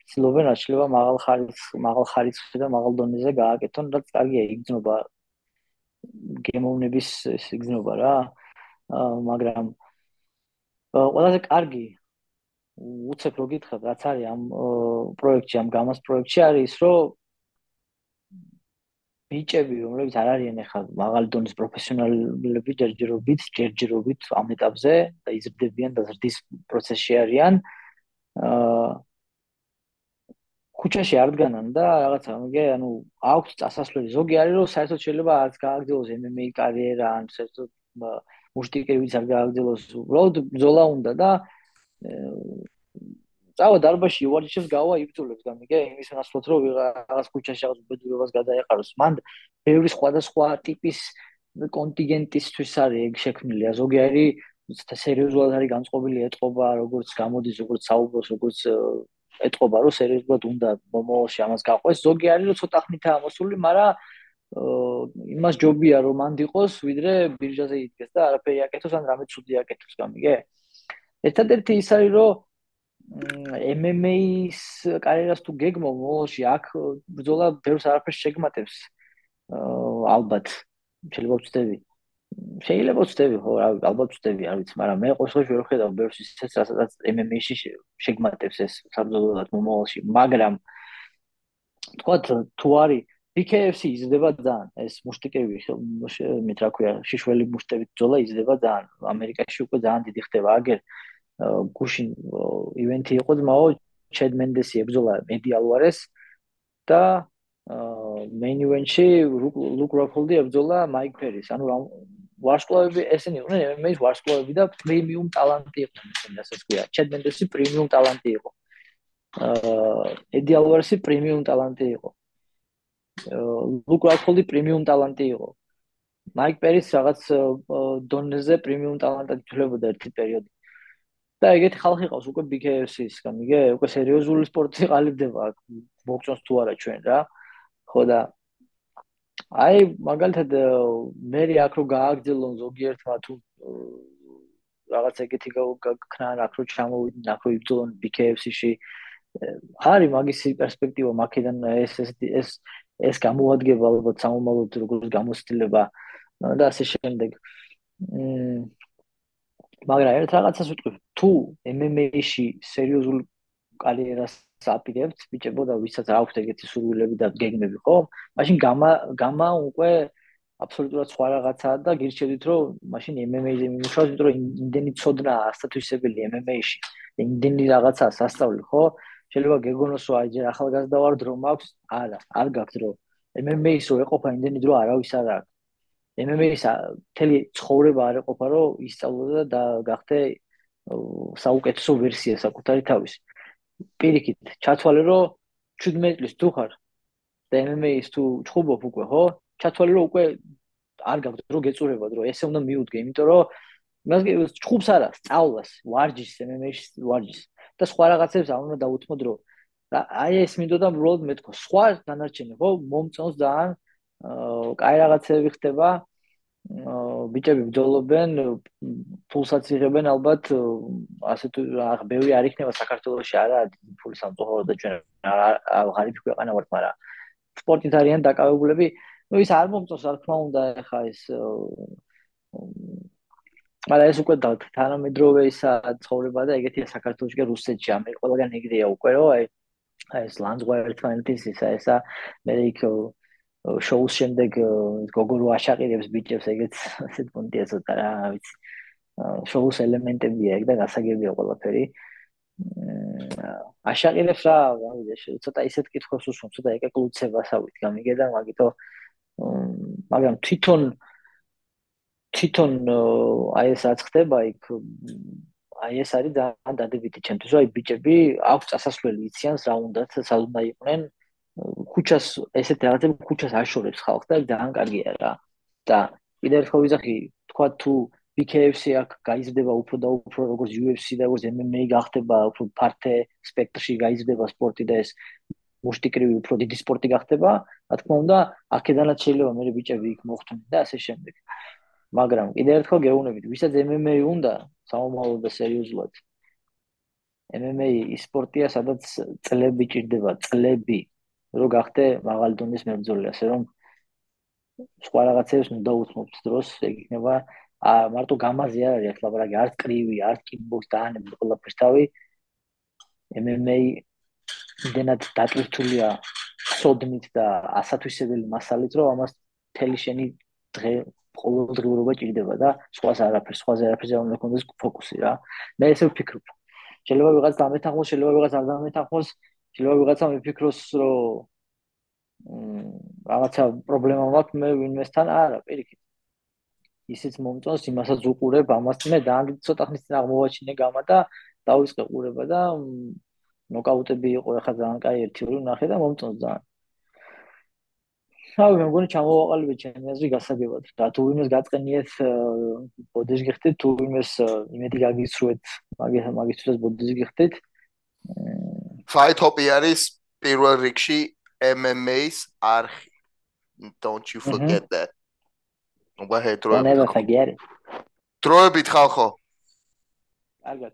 ცდილობენ რაც შეიძლება მაღალ ხარისხ, მაღალ ხარისხში და მაღალ დონეზე გააკეთონ, რაც კარგია, იგრძნობა გემოვნების იგრძნობა რა. აა მაგრამ ყველაზე კარგი უცებ რო გითხრათ, რაც არის ამ პროექტში, ამ გამას პროექტში არის ის, რომ ბიჭები, რომლებიც არ არიან ახლა მაღალი დონის პროფესიონალები, ჯერჯერობით, ჯერჯერობით ამ ეტაპზე და იზრდებიან და ზრდის პროცესში არიან. აა ქუჩაში არ დგანან და რაღაცა, მიგე, ანუ აქვს წასასვლელი. ზოგი არის, რომ საერთოდ შეიძლება არც გააგრძელოს ემ ემ ეი კარიერა, ან საერთოდ მუშტიკერიც არ გააგრძელოს. უბრალოდ ბრძოლა უნდა და წავა დარბაზში ივარჯიშებს გავა იბრძოლებს გამიგე იმის ნაცვლად რომ რაღაც ქუჩაში რაღაც ბედურებას გადაეყაროს მან ბევრი სხვადასხვა ტიპის კონტინგენტისთვის არის ეგ შექმნილია ზოგი არის სერიოზულად არის განწყობილი ეთყობა როგორც გამოდის როგორც საუბრობს როგორც ეთყობა რომ სერიოზულად უნდა მომავალში ამას გაყვეს ზოგი არის რომ ცოტა ხნითაა ამოსული მაგრამ იმას ჯობია რომ მანდ იყოს ვიდრე ბირჟაზე იდგეს და არაფერი აკეთოს ან რამე ცუდი აკეთოს გამიგე ერთადერთი ის არის რომ ემ ემ ეის კარიერას თუ გეგმო მომავალში აქ ბრძოლა ბევრს არაფერს შეგმატებს ალბათ შეიძლება ვწდები შეიძლება ვწდები ხო ალბათ ვწდები არ ვიცი მაგრამ მე ყოველ შემთხვევაში ვერ ვხედავ ბევრს ისეთ რასაც ემ ემ ეიში შეგმატებს ეს საბრძოლოდ მომავალში მაგრამ თქვათ თუ არის ბი კეი ეფ სი იზრდება ძალიან ეს მუშტიკები მით რა ქვია შიშველი მუშტებით ბრძოლა იზრდება ძალიან ამერიკაში უკვე ძალიან დიდი ხდება აგერ გუშინ ივენთი იყო ძმაო ჩედ მენდესი ებრძოლა ედი ალვარეს და მეინ ივენთში ლუკ როფოლდი ებრძოლა მაიკ პერის ანუ ვარსკვლავები ესენი იყვნენ ემ ემ ეის ვარსკვლავები და პრემიუმ ტალანტი იყვნენ ესენი რასაც ქვია ჩედ მენდესი პრემიუმ ტალანტი იყო ედი ალვარესი პრემიუმ ტალანტი იყო ლუკ როფოლდი პრემიუმ ტალანტი იყო მაიკ პერის რაღაც დონეზე პრემიუმ ტალანტად ითვლებოდა ერთი პერიოდი და ეგეთი ხალხი ყავს უკვე ბი კეი ეფ სის გამიგე უკვე სერიოზული სპორტი ყალიბდება აქ ბოქსონს თუ არა ჩვენ რა ხო და აი მაგალითად მე აქ რო გააგრძელონ ზოგიერთმა თუ რაღაც ეგეთი გაქნან აქ რო ჩამოვიდნენ აქ რო იბრძოლონ ბი კეი ეფ სიში არის მაგის პერსპექტივა მაქედან ეს ეს ეს გამოადგება ალბათ სამომავლოდ როგორც გამოცდილება და ასე შემდეგ მ მაგრამ ერთ რაღაცას ვიტყვი თუ ემ ემ ეიში სერიოზულ კარიერას აპირებთ ბიჭებო და ვისაც აქვს ეგეთი სურვილები და გეგმები ხო მაშინ გამა გამა უკვე აბსოლუტურად სხვა რაღაცაა და გირჩევით რომ მაშინ ემ ემ ეიზე მიმუშავოთ იმიტომ რომ იმდენი ცოდნაა ასტატუსებელი ემ ემ ეიში იმდენი რაღაცაა სასწავლი ხო შეიძლება გეგონოს რომ აი ჯერ ახალგაზრდა ვარ დრო მაქვს არა არ გაქვს დრო ემ ემ ეის რო ეყოფა იმდენი დრო არავის არ აქვს ემ ემ ეის მთელი ცხოვრება არ ეყოფა რომ ისწავლო და გახდე საუკეთესო ვერსია საკუთარი თავის პირიქით ჩათვალე რომ ჩვიდმეტი წლის თუ ხარ და ემ ემ ეის თუ ჩხუბობ უკვე ხო ჩათვალე რომ უკვე არ გაქვს დრო გეწურება დრო ესე უნდა მიუდგე იმიტომ რომ იმას ჩხუბს არა სწავლას ვარჯიშს ემ ემ ეის ვარჯიშს და სხვა რაღაცებს არ უნდა დაუთმო დრო აი ეს მინდოდა უბრალოდ მეთქო სხვა დანარჩენი ხო მომწონს ძალიან კაი რაღაცები ხდება ბიჭები ბრძოლობენ, ფულსაც იღებენ ალბათ, ასე თუ რა, ბევრი არ იქნება საქართველოში არა ფულის სამწუხაროდ და ჩვენ ღარიბი ქვეყანა ვართ, მაგრამ სპორტით არიან დაკავებულები. ნუ ის არ მომწონს, რა თქმა უნდა, ეხა ეს მაგრამ ეს უკვე თანამედროვე ისა ცხოვრება და ეგეთია საქართველოში და რუსეთში, ამერ ყველგან ეგრეა უკვე, რომ აი ეს ლანძღვარი ერთმანეთის ისა ესა მე იქ შოუს შემდეგ გოგო რო აშაყირებს ბიჭებს, ეგეც ასეთ პონტია ცოტა რა, ვიცი. შოუს ელემენტებია ეგ და გასაგებია ყველაფერი. აშაყირებს რა, გავიდე, ცოტა ისეთ კითხვებს უსვამს, ცოტა ეკეკლუცებასავით გამიგე და მაგითო მაგრამ თვითონ თვითონ აი ეს რაც ხდება იქ აი ეს არის ძალიან დადებითი ჩემთვის, რომ აი ბიჭები აქვს წასასვლელი იციან რა უნდათ, სად უნდა იყვნენ. ქუჩას ესეთ რაღაცები ქუჩას აშორებს ხალხს და ძალიან კარგია რა. და კიდევ ერთხელ ვიზახი, თქვა თუ ბი კეი ეფ სი აქ გაიზრდება უფრო და უფრო როგორც იუ ეფ სი და როგორც ემ ემ ეი გახდება, უფრო ფართე სპექტრში გაიზრდება სპორტი და ეს მუშტიკრივი უფრო დიდი სპორტი გახდება, რა თქმა უნდა, აქედანაც შეიძლება მე ბიჭები იქ მოხვდნენ და ასე შემდეგ. მაგრამ კიდევ ერთხელ გეუბნებით, ვისაც ემ ემ ეი უნდა საომალო და სერიოზულად. ემ ემ ეი ის სპორტია, სადაც წლები ჭირდება, წლები, რომ გახდე მაღალი დონის მებრძოლი, ასე რომ სხვა რაღაცებს უნდა უთმობთ დროს, ეგ იქნება მარტო გამაზე არ არის ლაპარაკი, არც კრივი, არც კიკბოქს დაანებთ ყველაფერს თავი. ემ ემ ეი იმდენად დატვირთულია სოდნით და ასათვისებელი მასალით, რომ ამას მთელი შენი დღე ყოველდღიურობა ჭირდება და სხვას არაფერს, სხვაზე არაფერზე არ უნდა გქონდეს ფოკუსი რა. მე ესე ვფიქრობ. შეიძლება ვიღაც დამეთანხმოს, შეიძლება ვიღაც არ დამეთანხმოს, შეიძლება ვიღაცა მიფიქროს, რომ რაღაცა პრობლემა მაქვს მე ვინმესთან, არა, პირიქით. ისიც მომწონს, იმასაც უყურებ, ამას მე ძალიან ცოტა ხნის წინ აღმოვაჩინე გამა და დავიწყე ყურება და ნოკაუტები იყო, ახლა ძალიან კაი ერთი ორი ვნახე და მომწონს ძალიან. ავი მე მგონი ჩამოვაყალიბეთ ჩემი აზრი გასაგებად. და თუ ვინმეს გაწყენიეთ ბოდეს გიხდით, თუ ვინმეს იმედი გაგიცრუეთ, მაგის მაგისთვისაც ბოდეს გიხდით. Fight-Hop არის პირველ რიგში ემ ემ ეის არხი. Don't you forget that. Don't ever forget it. დროებით ხალხო. კარგად.